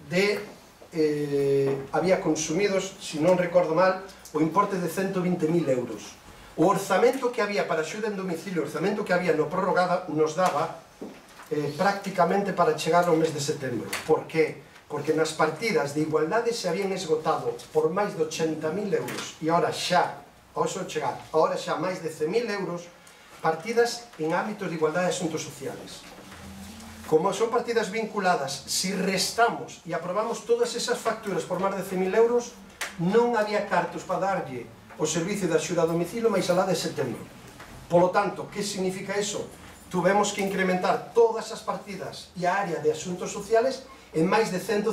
de había consumidos, se non recordo mal, o importe de 120.000 euros. O orzamento que había para axuda en domicilio, o orzamento que había no prorrogada, nos daba prácticamente para chegar ao mes de setembro. Por que? Porque nas partidas de igualdade se habían esgotado por máis de 80.000 euros e agora xa, agora xa máis de 100.000 euros partidas en ámbitos de igualdade e asuntos sociales. Como son partidas vinculadas, si restamos e aprobamos todas esas facturas por máis de 100.000 euros, non había cartos para darlle o servicio de axuda a domicilio máis alá de setembro. Polo tanto, que significa eso? Tuvemos que incrementar todas as partidas e a área de asuntos sociales en máis de 150.000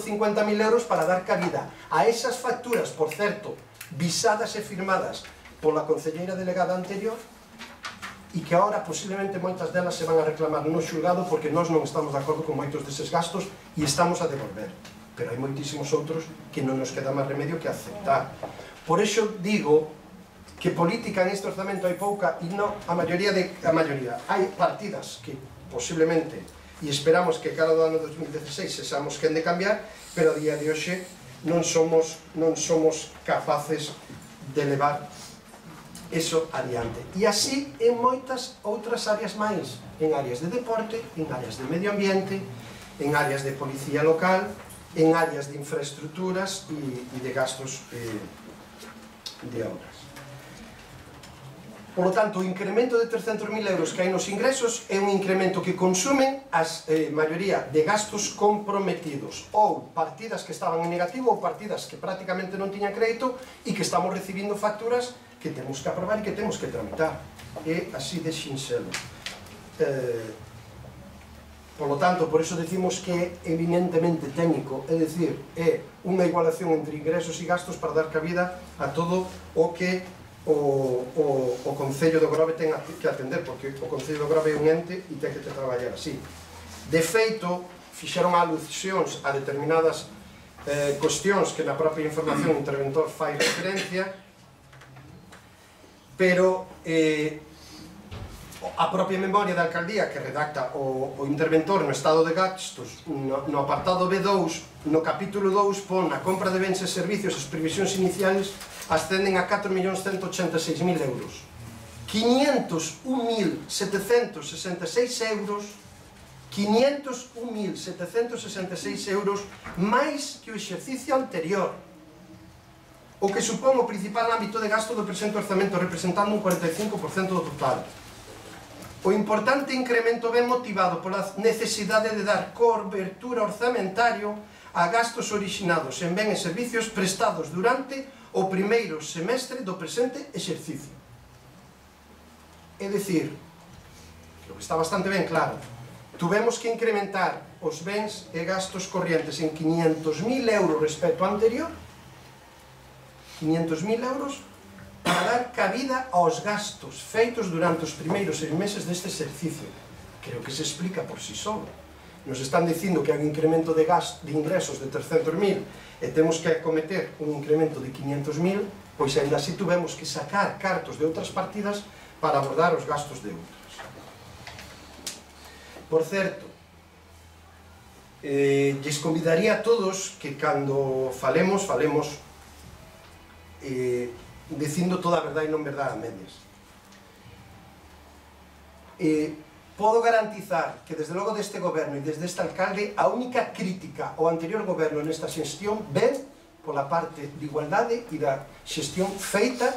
euros para dar cabida a esas facturas, por certo, visadas e firmadas pola concelleira delegada anterior, e que agora posiblemente moitas delas se van a reclamar no xulgado porque nós non estamos de acordo con moitos deses gastos e estamos a devolver. Pero hai moitísimos outros que non nos queda máis remedio que aceptar. Por iso digo que política en este orzamento hai pouca e non a maioría. Hai partidas que posiblemente, e esperamos que cara do ano 2016 sexamos quen de cambiar, pero a día de hoxe non somos capaces de levar eso adiante. E así en moitas outras áreas máis, en áreas de deporte, en áreas de medio ambiente, en áreas de policía local, en áreas de infraestructuras e de gastos de obras. Por lo tanto, o incremento de 300.000 euros que hai nos ingresos é un incremento que consumen a maioría de gastos comprometidos ou partidas que estaban en negativo ou partidas que prácticamente non tiñan crédito e que estamos recibindo facturas que temos que aprobar e que temos que tramitar. É así de sinxelo. Por lo tanto, por eso decimos que é eminentemente técnico, é dicir, é unha igualación entre ingresos e gastos para dar cabida a todo o que o Concello do Grove ten que atender, porque o Concello do Grove é un ente e ten que traballar así. De feito, fixeron alusións a determinadas cuestións que na propia información o interventor fai referencia, pero a propia memoria da alcaldía que redacta o interventor no estado de gastos no apartado B2, no capítulo 2 pon a compra de bens e servicios, as previsións iniciales ascenden a 4.186.000 euros, 501.766 euros, 501.766 euros máis que o exercicio anterior, o que supón o principal ámbito de gasto do presente orzamento, representando un 45% do total. O importante incremento ven motivado pola necesidade de dar cobertura orzamentario a gastos originados en ben e servicios prestados durante o primeiro semestre do presente exercicio. É dicir, que está bastante ben claro, tuvemos que incrementar os bens e gastos corrientes en 500.000 euros respecto ao anterior, 500.000 euros para dar cabida aos gastos feitos durante os primeiros 6 meses deste exercicio. Creo que se explica por si só. Nos están dicindo que hai un incremento de ingresos de 300.000 e temos que acometer un incremento de 500.000, pois ainda así tuvemos que sacar cartos de outras partidas para abordar os gastos de outras. Por certo, lles convidaría a todos que cando falemos dicindo toda a verdade e non verdade a medias. Podo garantizar que desde logo deste goberno e desde este alcalde a única crítica ao anterior goberno nesta xestión ven pola parte de igualdade e da xestión feita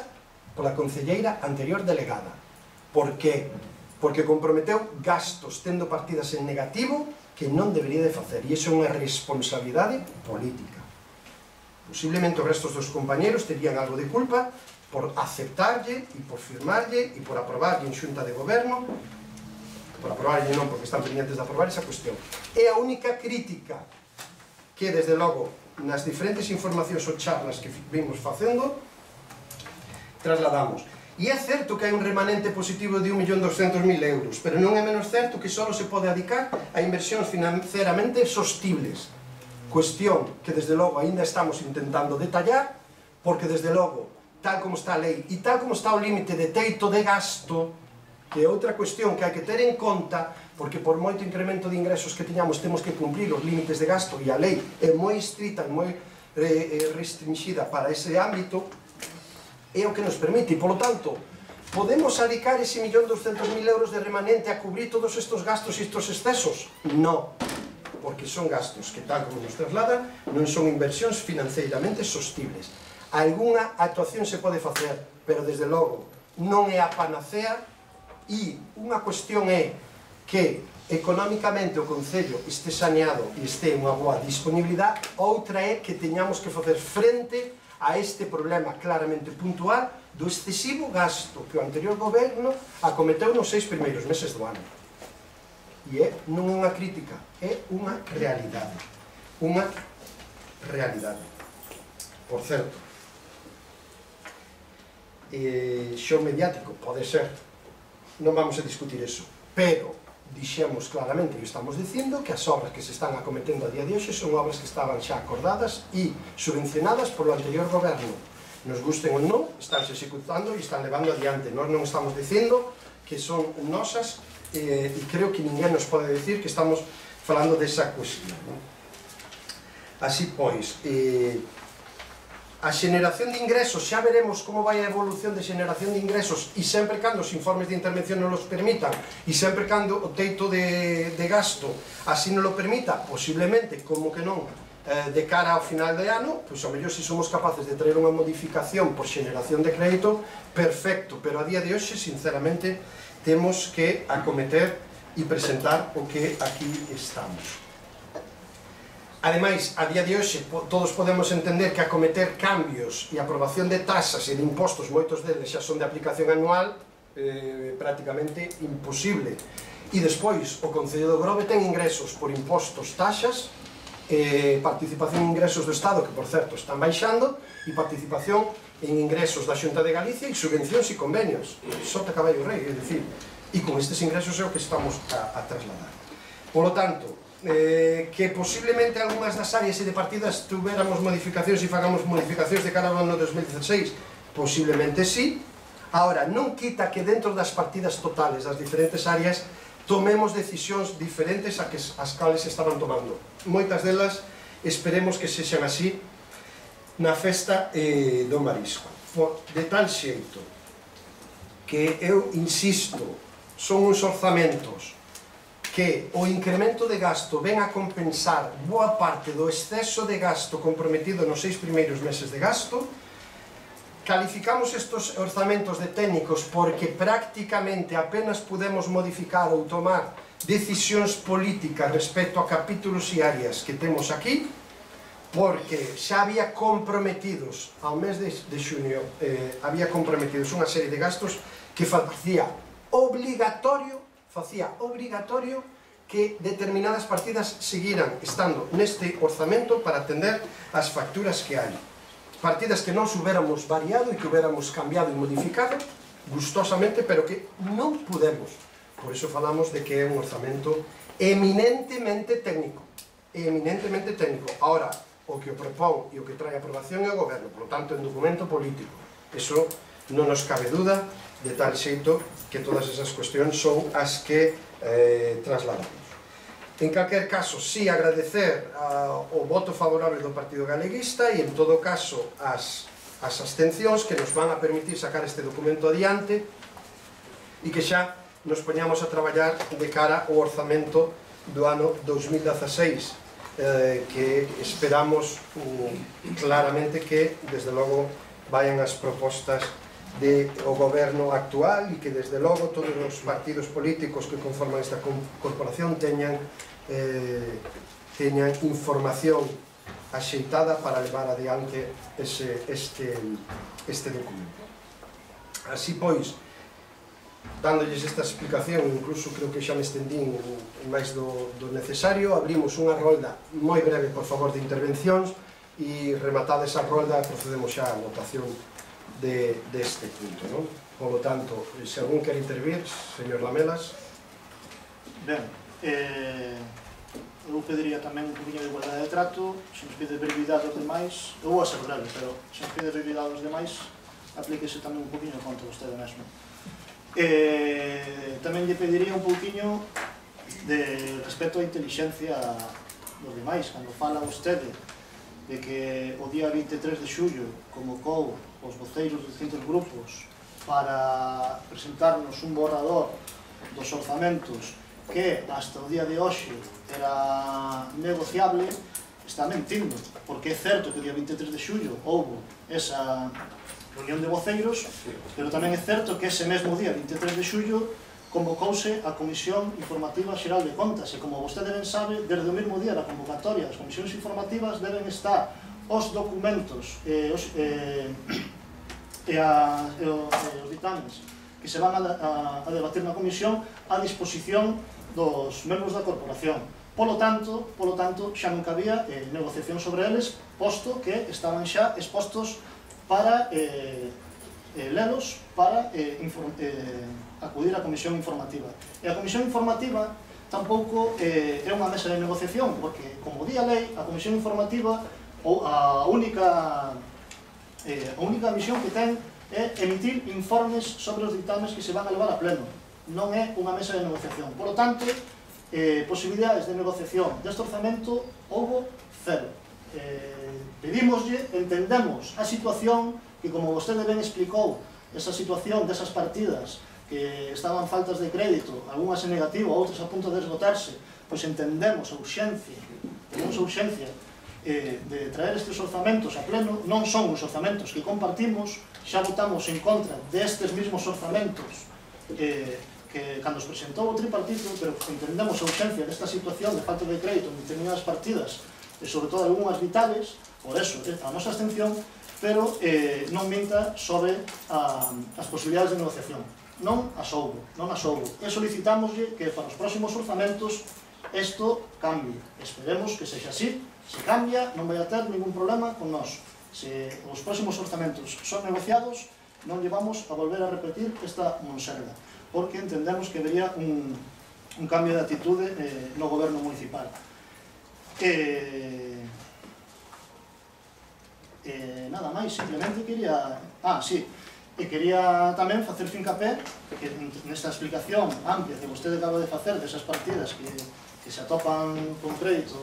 pola concelleira anterior delegada. Por que? Porque comprometeu gastos tendo partidas en negativo que non debería de facer, e iso é unha responsabilidade política. Posiblemente os restos dos compañeros terían algo de culpa por aceptarlle e por firmarlle e por aprobarlle en xunta de goberno, por aprobarlle non, porque están pendientes de aprobar esa cuestión. É a única crítica que, desde logo, nas diferentes informacións ou charlas que vimos facendo, trasladamos. E é certo que hai un remanente positivo de 1.200.000 euros, pero non é menos certo que só se pode adicar a inversións financeramente sostibles. Cuestión que, desde logo, ainda estamos intentando detallar, porque, desde logo, tal como está a lei e tal como está o límite de teito de gasto, que é outra cuestión que hai que ter en conta, porque por moito incremento de ingresos que tiñamos temos que cumplir os límites de gasto, e a lei é moi estrita e moi restringida para ese ámbito, é o que nos permite, e polo tanto, podemos adicar ese 1.200.000 euros de remanente a cubrir todos estes gastos e estes excesos? Non, porque son gastos que, tal como nos trasladan, non son inversións financeiramente sostibles. Alguna actuación se pode facer, pero desde logo non é a panacea, e unha cuestión é que económicamente o Concello este saneado e este unha boa disponibilidade, outra é que teñamos que facer frente a este problema claramente puntual do excesivo gasto que o anterior goberno acometeu nos 6 primeiros meses do ano. E non é unha crítica, é unha realidade. Unha realidade. Por certo, xo mediático, pode ser, non vamos a discutir eso, pero dixemos claramente, e estamos dicindo, que as obras que se están acometendo a día de hoxe son obras que estaban xa acordadas e subvencionadas polo anterior goberno. Nos gusten ou non, están se executando e están levando adiante. Nós non estamos dicindo que son nosas, e creo que ninguén nos pode decir que estamos falando desa cuestión. Así pois, a xeneración de ingresos, xa veremos como vai a evolución de xeneración de ingresos, e sempre cando os informes de intervención non os permitan, e sempre cando o teito de gasto así non lo permita, posiblemente, como que non, de cara ao final de ano, pois ao mellor se somos capaces de traer unha modificación por xeneración de crédito, perfecto, pero a día de hoxe, sinceramente, temos que acometer e presentar o que aquí estamos. Ademais, a día de hoxe, todos podemos entender que acometer cambios e aprobación de tasas e de impostos, moitos deles xa son de aplicación anual, prácticamente imposible. E despois, o Concello do Grove ten ingresos por impostos, taxas, participación en ingresos do Estado, que por certo están baixando, e participación en ingresos da Xunta de Galicia e subvencións e convenios. Sota caballo rei, é dicir, e con estes ingresos é o que estamos a trasladar. Por lo tanto, que posiblemente algunhas das áreas e de partidas tuveramos modificacións e fagamos modificacións de cara ao ano 2016, posiblemente sí. Ahora, non quita que dentro das partidas totales das diferentes áreas tomemos decisións diferentes a que as cales estaban tomando. Moitas delas esperemos que sexan así na festa do marisco. De tal xeito que eu insisto, son uns orzamentos que o incremento de gasto ven a compensar boa parte do exceso de gasto comprometido nos 6 primeiros meses de gasto. Calificamos estes orzamentos de técnicos porque prácticamente apenas podemos modificar ou tomar decisións políticas respecto a capítulos e áreas que temos aquí, porque xa había comprometidos ao mes de xunio, había comprometidos unha serie de gastos que facía obligatorio que determinadas partidas seguiran estando neste orzamento para atender as facturas que hai. Partidas que non hubiéramos variado e que hubiéramos cambiado e modificado gustosamente, pero que non podemos. Por iso falamos de que é un orzamento eminentemente técnico. Eminentemente técnico. Ahora, o que o propón e o que trae a aprobación é o goberno, por lo tanto, en documento político. Eso non nos cabe duda, de tal xeito que todas esas cuestións son as que trasladamos. En calquer caso, sí agradecer o voto favorable do Partido Galeguista e en todo caso as abstencións que nos van a permitir sacar este documento adiante e que xa nos poñamos a traballar de cara ao orzamento do ano 2016, que esperamos claramente que desde logo vayan as propostas do goberno actual e que desde logo todos os partidos políticos que conforman esta corporación teñan información axeitada para levar adiante este documento. Así pois, dándolles esta explicación, incluso creo que xa me estendín máis do necesario, abrimos unha rolda moi breve, por favor, de intervencións e rematada esa rolda procedemos xa á votación deste punto, non? Por lo tanto, se algún quer intervir, señor Lamelas. Ben, eu pediría tamén un poquinho de igualdade de trato, se nos pide brevidade aos demais, eu vou a ser breve, pero se nos pide brevidade aos demais, aplíquese tamén un poquinho contra vostede mesmo. Tamén lle pediría un pouquiño de respecto á inteligencia dos demais. Cando fala vostede de que o día 23 de xullo convocou os voceiros de distintos grupos para presentarnos un borrador dos orzamentos que hasta o día de hoxe era negociable, está mentindo, porque é certo que o día 23 de xullo houve esa reunión de voceiros, pero tamén é certo que ese mesmo día 23 de xullo convocouse a Comisión Informativa Xeral de Contas, e como vostede ben sabe, desde o mesmo día da convocatoria das comisións informativas deben estar os documentos e os ditames que se van a debatir na comisión a disposición dos membros da corporación. Polo tanto, xa non cabía negociación sobre eles, posto que estaban xa expostos para lelos, para acudir á comisión informativa. E a comisión informativa tampouco é unha mesa de negociación, porque, como di a lei, a comisión informativa a única misión que ten é emitir informes sobre os dictames que se van a levar a pleno. Non é unha mesa de negociación. Por lo tanto, posibilidades de negociación deste orzamento houbo cero. Pedímoslle, entendemos a situación que, como vostede ben explicou, esa situación desas partidas que estaban faltas de crédito, algunhas en negativo, outras a punto de esgotarse, pois entendemos a urxencia de traer estes orzamentos a pleno. Non son os orzamentos que compartimos, xa votamos en contra destes mismos orzamentos que cando os presentou o tripartito, pero entendemos a urxencia desta situación de falta de crédito en determinadas partidas, e sobre todo algunhas vitales, por eso a nosa abstención, pero non minta sobre as posibilidades de negociación. Non as houbo. E solicitámoslle que para os próximos orzamentos isto cambie. Esperemos que sexa así. Se cambia, non vai a ter ningún problema con nós. Se os próximos orzamentos son negociados, non llevamos a volver a repetir esta monserga, porque entendemos que vería un cambio de atitude no goberno municipal. Nada máis, simplemente quería... quería tamén facer fincapé que nesta explicación amplia que vostede acaba de facer desas partidas que se atopan con crédito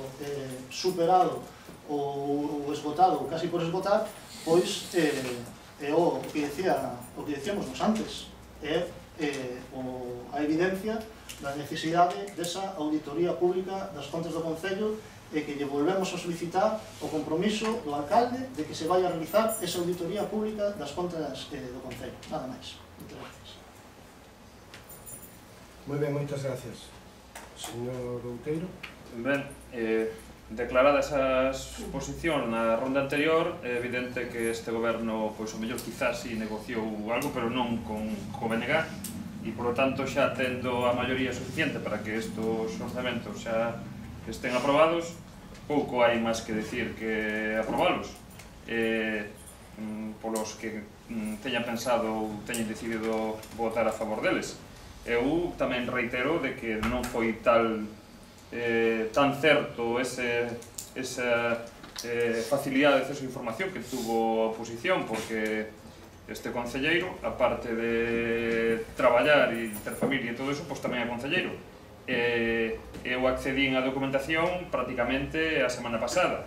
superado ou esgotado ou casi por esgotar, pois é o que decíamos nos antes, é a evidencia da necesidade desa auditoría pública das contas do Concello, e que lle volvemos a solicitar o compromiso do alcalde de que se vai a realizar esa auditoría pública das contas do Concello. Nada máis. Moitas gracias. Moi ben, moitas gracias. Señor Outeiro. Ben, declarada esa exposición na ronda anterior, é evidente que este goberno, pois o mellor quizás si negociou algo, pero non con o BNG, e polo tanto xa tendo a maioría suficiente para que estos orzamentos xa estén aprobados, pouco hai máis que decir que aprobalos. Polos que teñan pensado ou teñan decidido votar a favor deles. Eu tamén reitero de que non foi tan certo esa facilidade de acceso a información que tuvo a oposición, porque este concelleiro, aparte de traballar e ter familia e todo eso, pois tamén é concelleiro. Eu accedín á documentación prácticamente a semana pasada.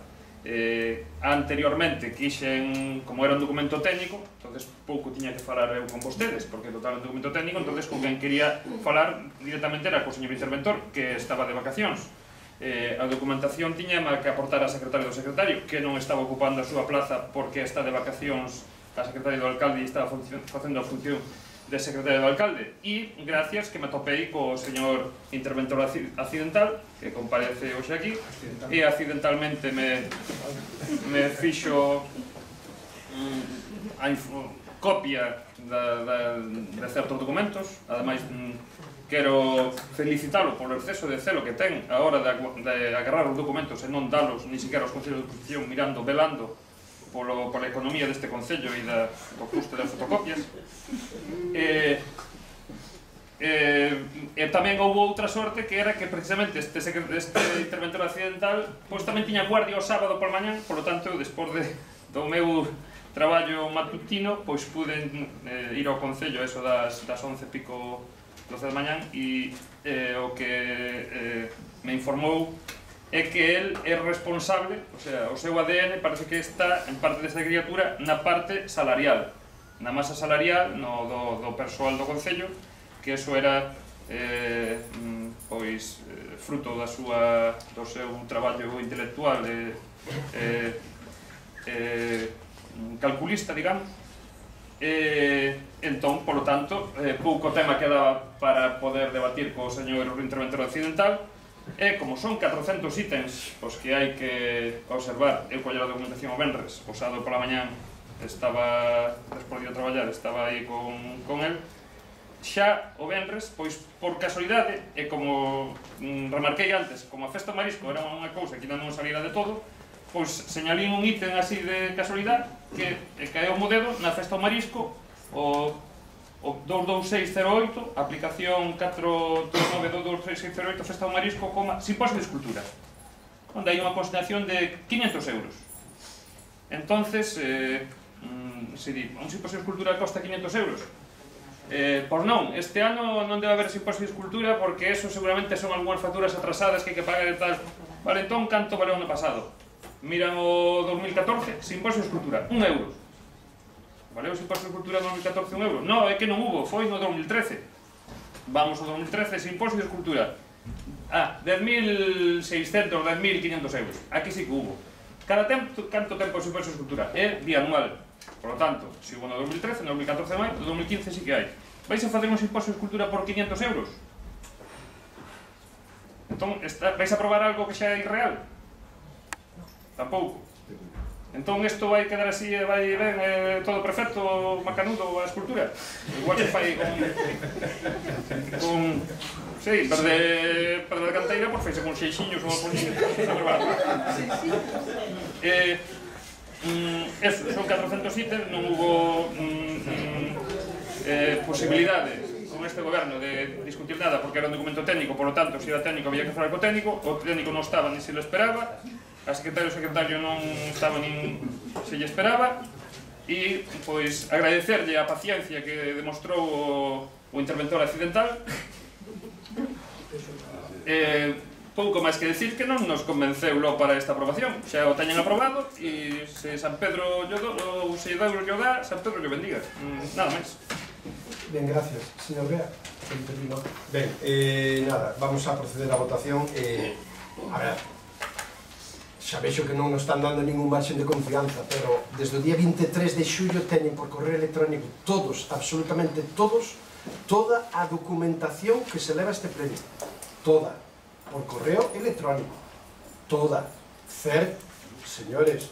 Anteriormente quixen, como era un documento técnico, entonces pouco tiña que falar eu con vostedes, porque total un documento técnico, entonces con quen quería falar directamente era co señor interventor, que estaba de vacacións. A documentación tiña que aportar a secretario do secretario, que non estaba ocupando a súa plaza porque está de vacacións a secretario do alcalde e estaba facendo a función de secretario do alcalde, e gracias que me topei co señor interventor accidental que comparece hoxe aquí e accidentalmente me fixo a copia de certos documentos. Ademais, quero felicitalo polo exceso de celo que ten a hora de agarrar os documentos e non dalos ni siquiera aos concellos de oposición, mirando, velando pola economía deste concello e do custo das fotocopias. Tamén houve outra sorte, que era que precisamente este interventor accidental pois tamén tiña guardia o sábado por mañán, polo tanto, despois do meu traballo matutino, pois pude ir ao Concello eso das 11 pico 12 da mañán e o que me informou é que el é responsable, o sea, o seu ADN parece que está en parte desta criatura na parte salarial, na masa salarial do persoal do Concello, que eso era pois fruto do seu traballo intelectual calculista, digamos. Entón, polo tanto, pouco tema queda para poder debatir co señor interventor occidental. E como son 400 ítems os que hai que observar, eu coller a documentación o venres, o sábado pola mañán estaba, despois de traballar, estaba aí con el, xa o venres, pois por casualidade, e como remarquei antes, como a festa do marisco era unha cousa que non salira de todo, pois señalín un ítem así de casualidade que caeu mo dedo na festa do marisco, o 22608, aplicación 439-22608, festa do marisco, simposio de escultura, onde hai unha consignación de 500 euros. Entonces, se di, un simposio de escultura costa 500 euros? Pois non, este ano non debe haber simposio de escultura porque eso seguramente son algunhas facturas atrasadas que hai que pagar e tal. Vale, entón, canto valeu ano pasado? Miran o 2014, simposio de escultura, 1 euro. Valeu o simposio de escultura no 2014 1 euro? Non, é que non hubo, foi no 2013. Vamos ao 2013, simposio de escultura. 10.600, 10.500 euros. Aquí sí que hubo. Canto tempo o simposio de escultura? É bianual. Por lo tanto, se hubo no 2013, no 2014 máis, no 2015 sí que hai. Vais a facer un simposio de escultura por 500 euros? Entón, vais a probar algo que xa é irreal? Tampouco. Entón isto vai quedar así e vai ben todo perfecto, macanudo a escultura. Igual se fai con sei, verde de canteira, por feise con xeixiños ou con eso, son 400 ítems, non hubo posibilidade con este goberno de discutir nada porque era un documento técnico, por lo tanto, se era técnico había que falar co técnico, o técnico non estaba ni se lo esperaba, a secretario non estaba nin se lle esperaba, e pois agradecerlle a paciencia que demostrou o interventor occidental. Pouco máis que decir que non nos convenceu lo para esta aprobación, xa o teñen aprobado e se San Pedro ou se Deus lle dá, San Pedro lle bendiga, nada máis. Ben, gracias. Señor Bea, ben, nada, vamos a proceder á votación. A ver, xa vexo que non nos están dando ningún marxen de confianza, pero desde o día 23 de xullo teñen por correo electrónico todos, absolutamente todos, toda a documentación que se leva a este pleno. Toda. Por correo electrónico. Toda. Señores,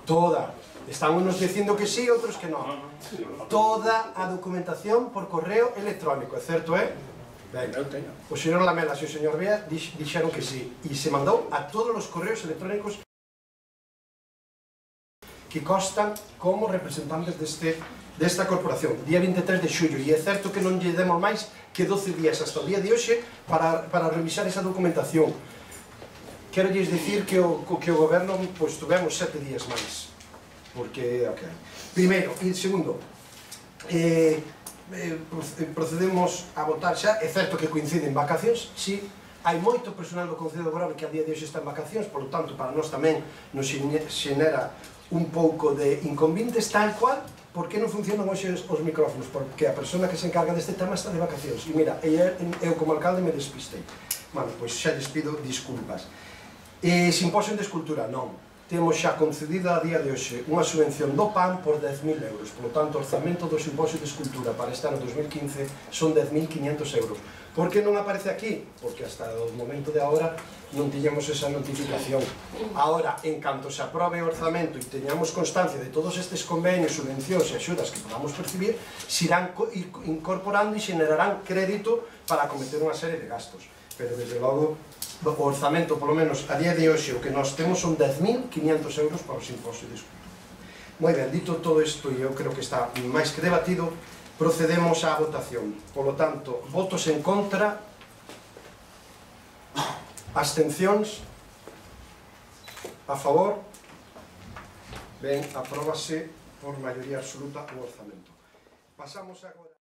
toda. Están unos dicindo que sí, outros que non. Toda a documentación por correo electrónico, é certo, Ben, o señor Lamelas e o señor Bea dixeron que sí, e se mandou a todos os correos electrónicos que constan como representantes desta corporación, día 23 de xullo, e é certo que non lle demos máis que 12 días hasta o día de hoxe para revisar esa documentación. Quero lles dicir que o goberno tuvemos 7 días máis, porque, primeiro, e segundo, procedemos a votar xa, é certo que coinciden vacacións, si, hai moito personal do Concello de Grove que a día de hoxe está en vacacións, por lo tanto, para nós tamén nos xenera un pouco de inconvenientes, tal cual, por que non funcionan hoxe os micrófonos? Porque a persona que se encarga deste tema está de vacacións, e mira, eu como alcalde me despistei. Bueno, pois xa lles pido disculpas. Simposio de escultura, non. Temos xa concedida a día de hoxe unha subvención do PAN por 10.000 euros. Por lo tanto, o orzamento do simposio de escultura para este ano 2015 son 10.500 euros. Por que non aparece aquí? Porque hasta o momento de agora non tiñamos esa notificación. Agora, en canto se aprobe o orzamento e teñamos constancia de todos estes convenios, subvencións e axudas que podamos percibir, se irán incorporando e xenerarán crédito para acometer unha serie de gastos. Pero, desde logo, o orzamento, polo menos a día de hoxe, o que nós temos son 10.500 euros para o simposio de escultura. Moi ben, dito todo isto, e eu creo que está máis que debatido, procedemos á votación. Polo tanto, votos en contra, abstencións, a favor, ben, apróbase por maioría absoluta o orzamento. Pasamos agora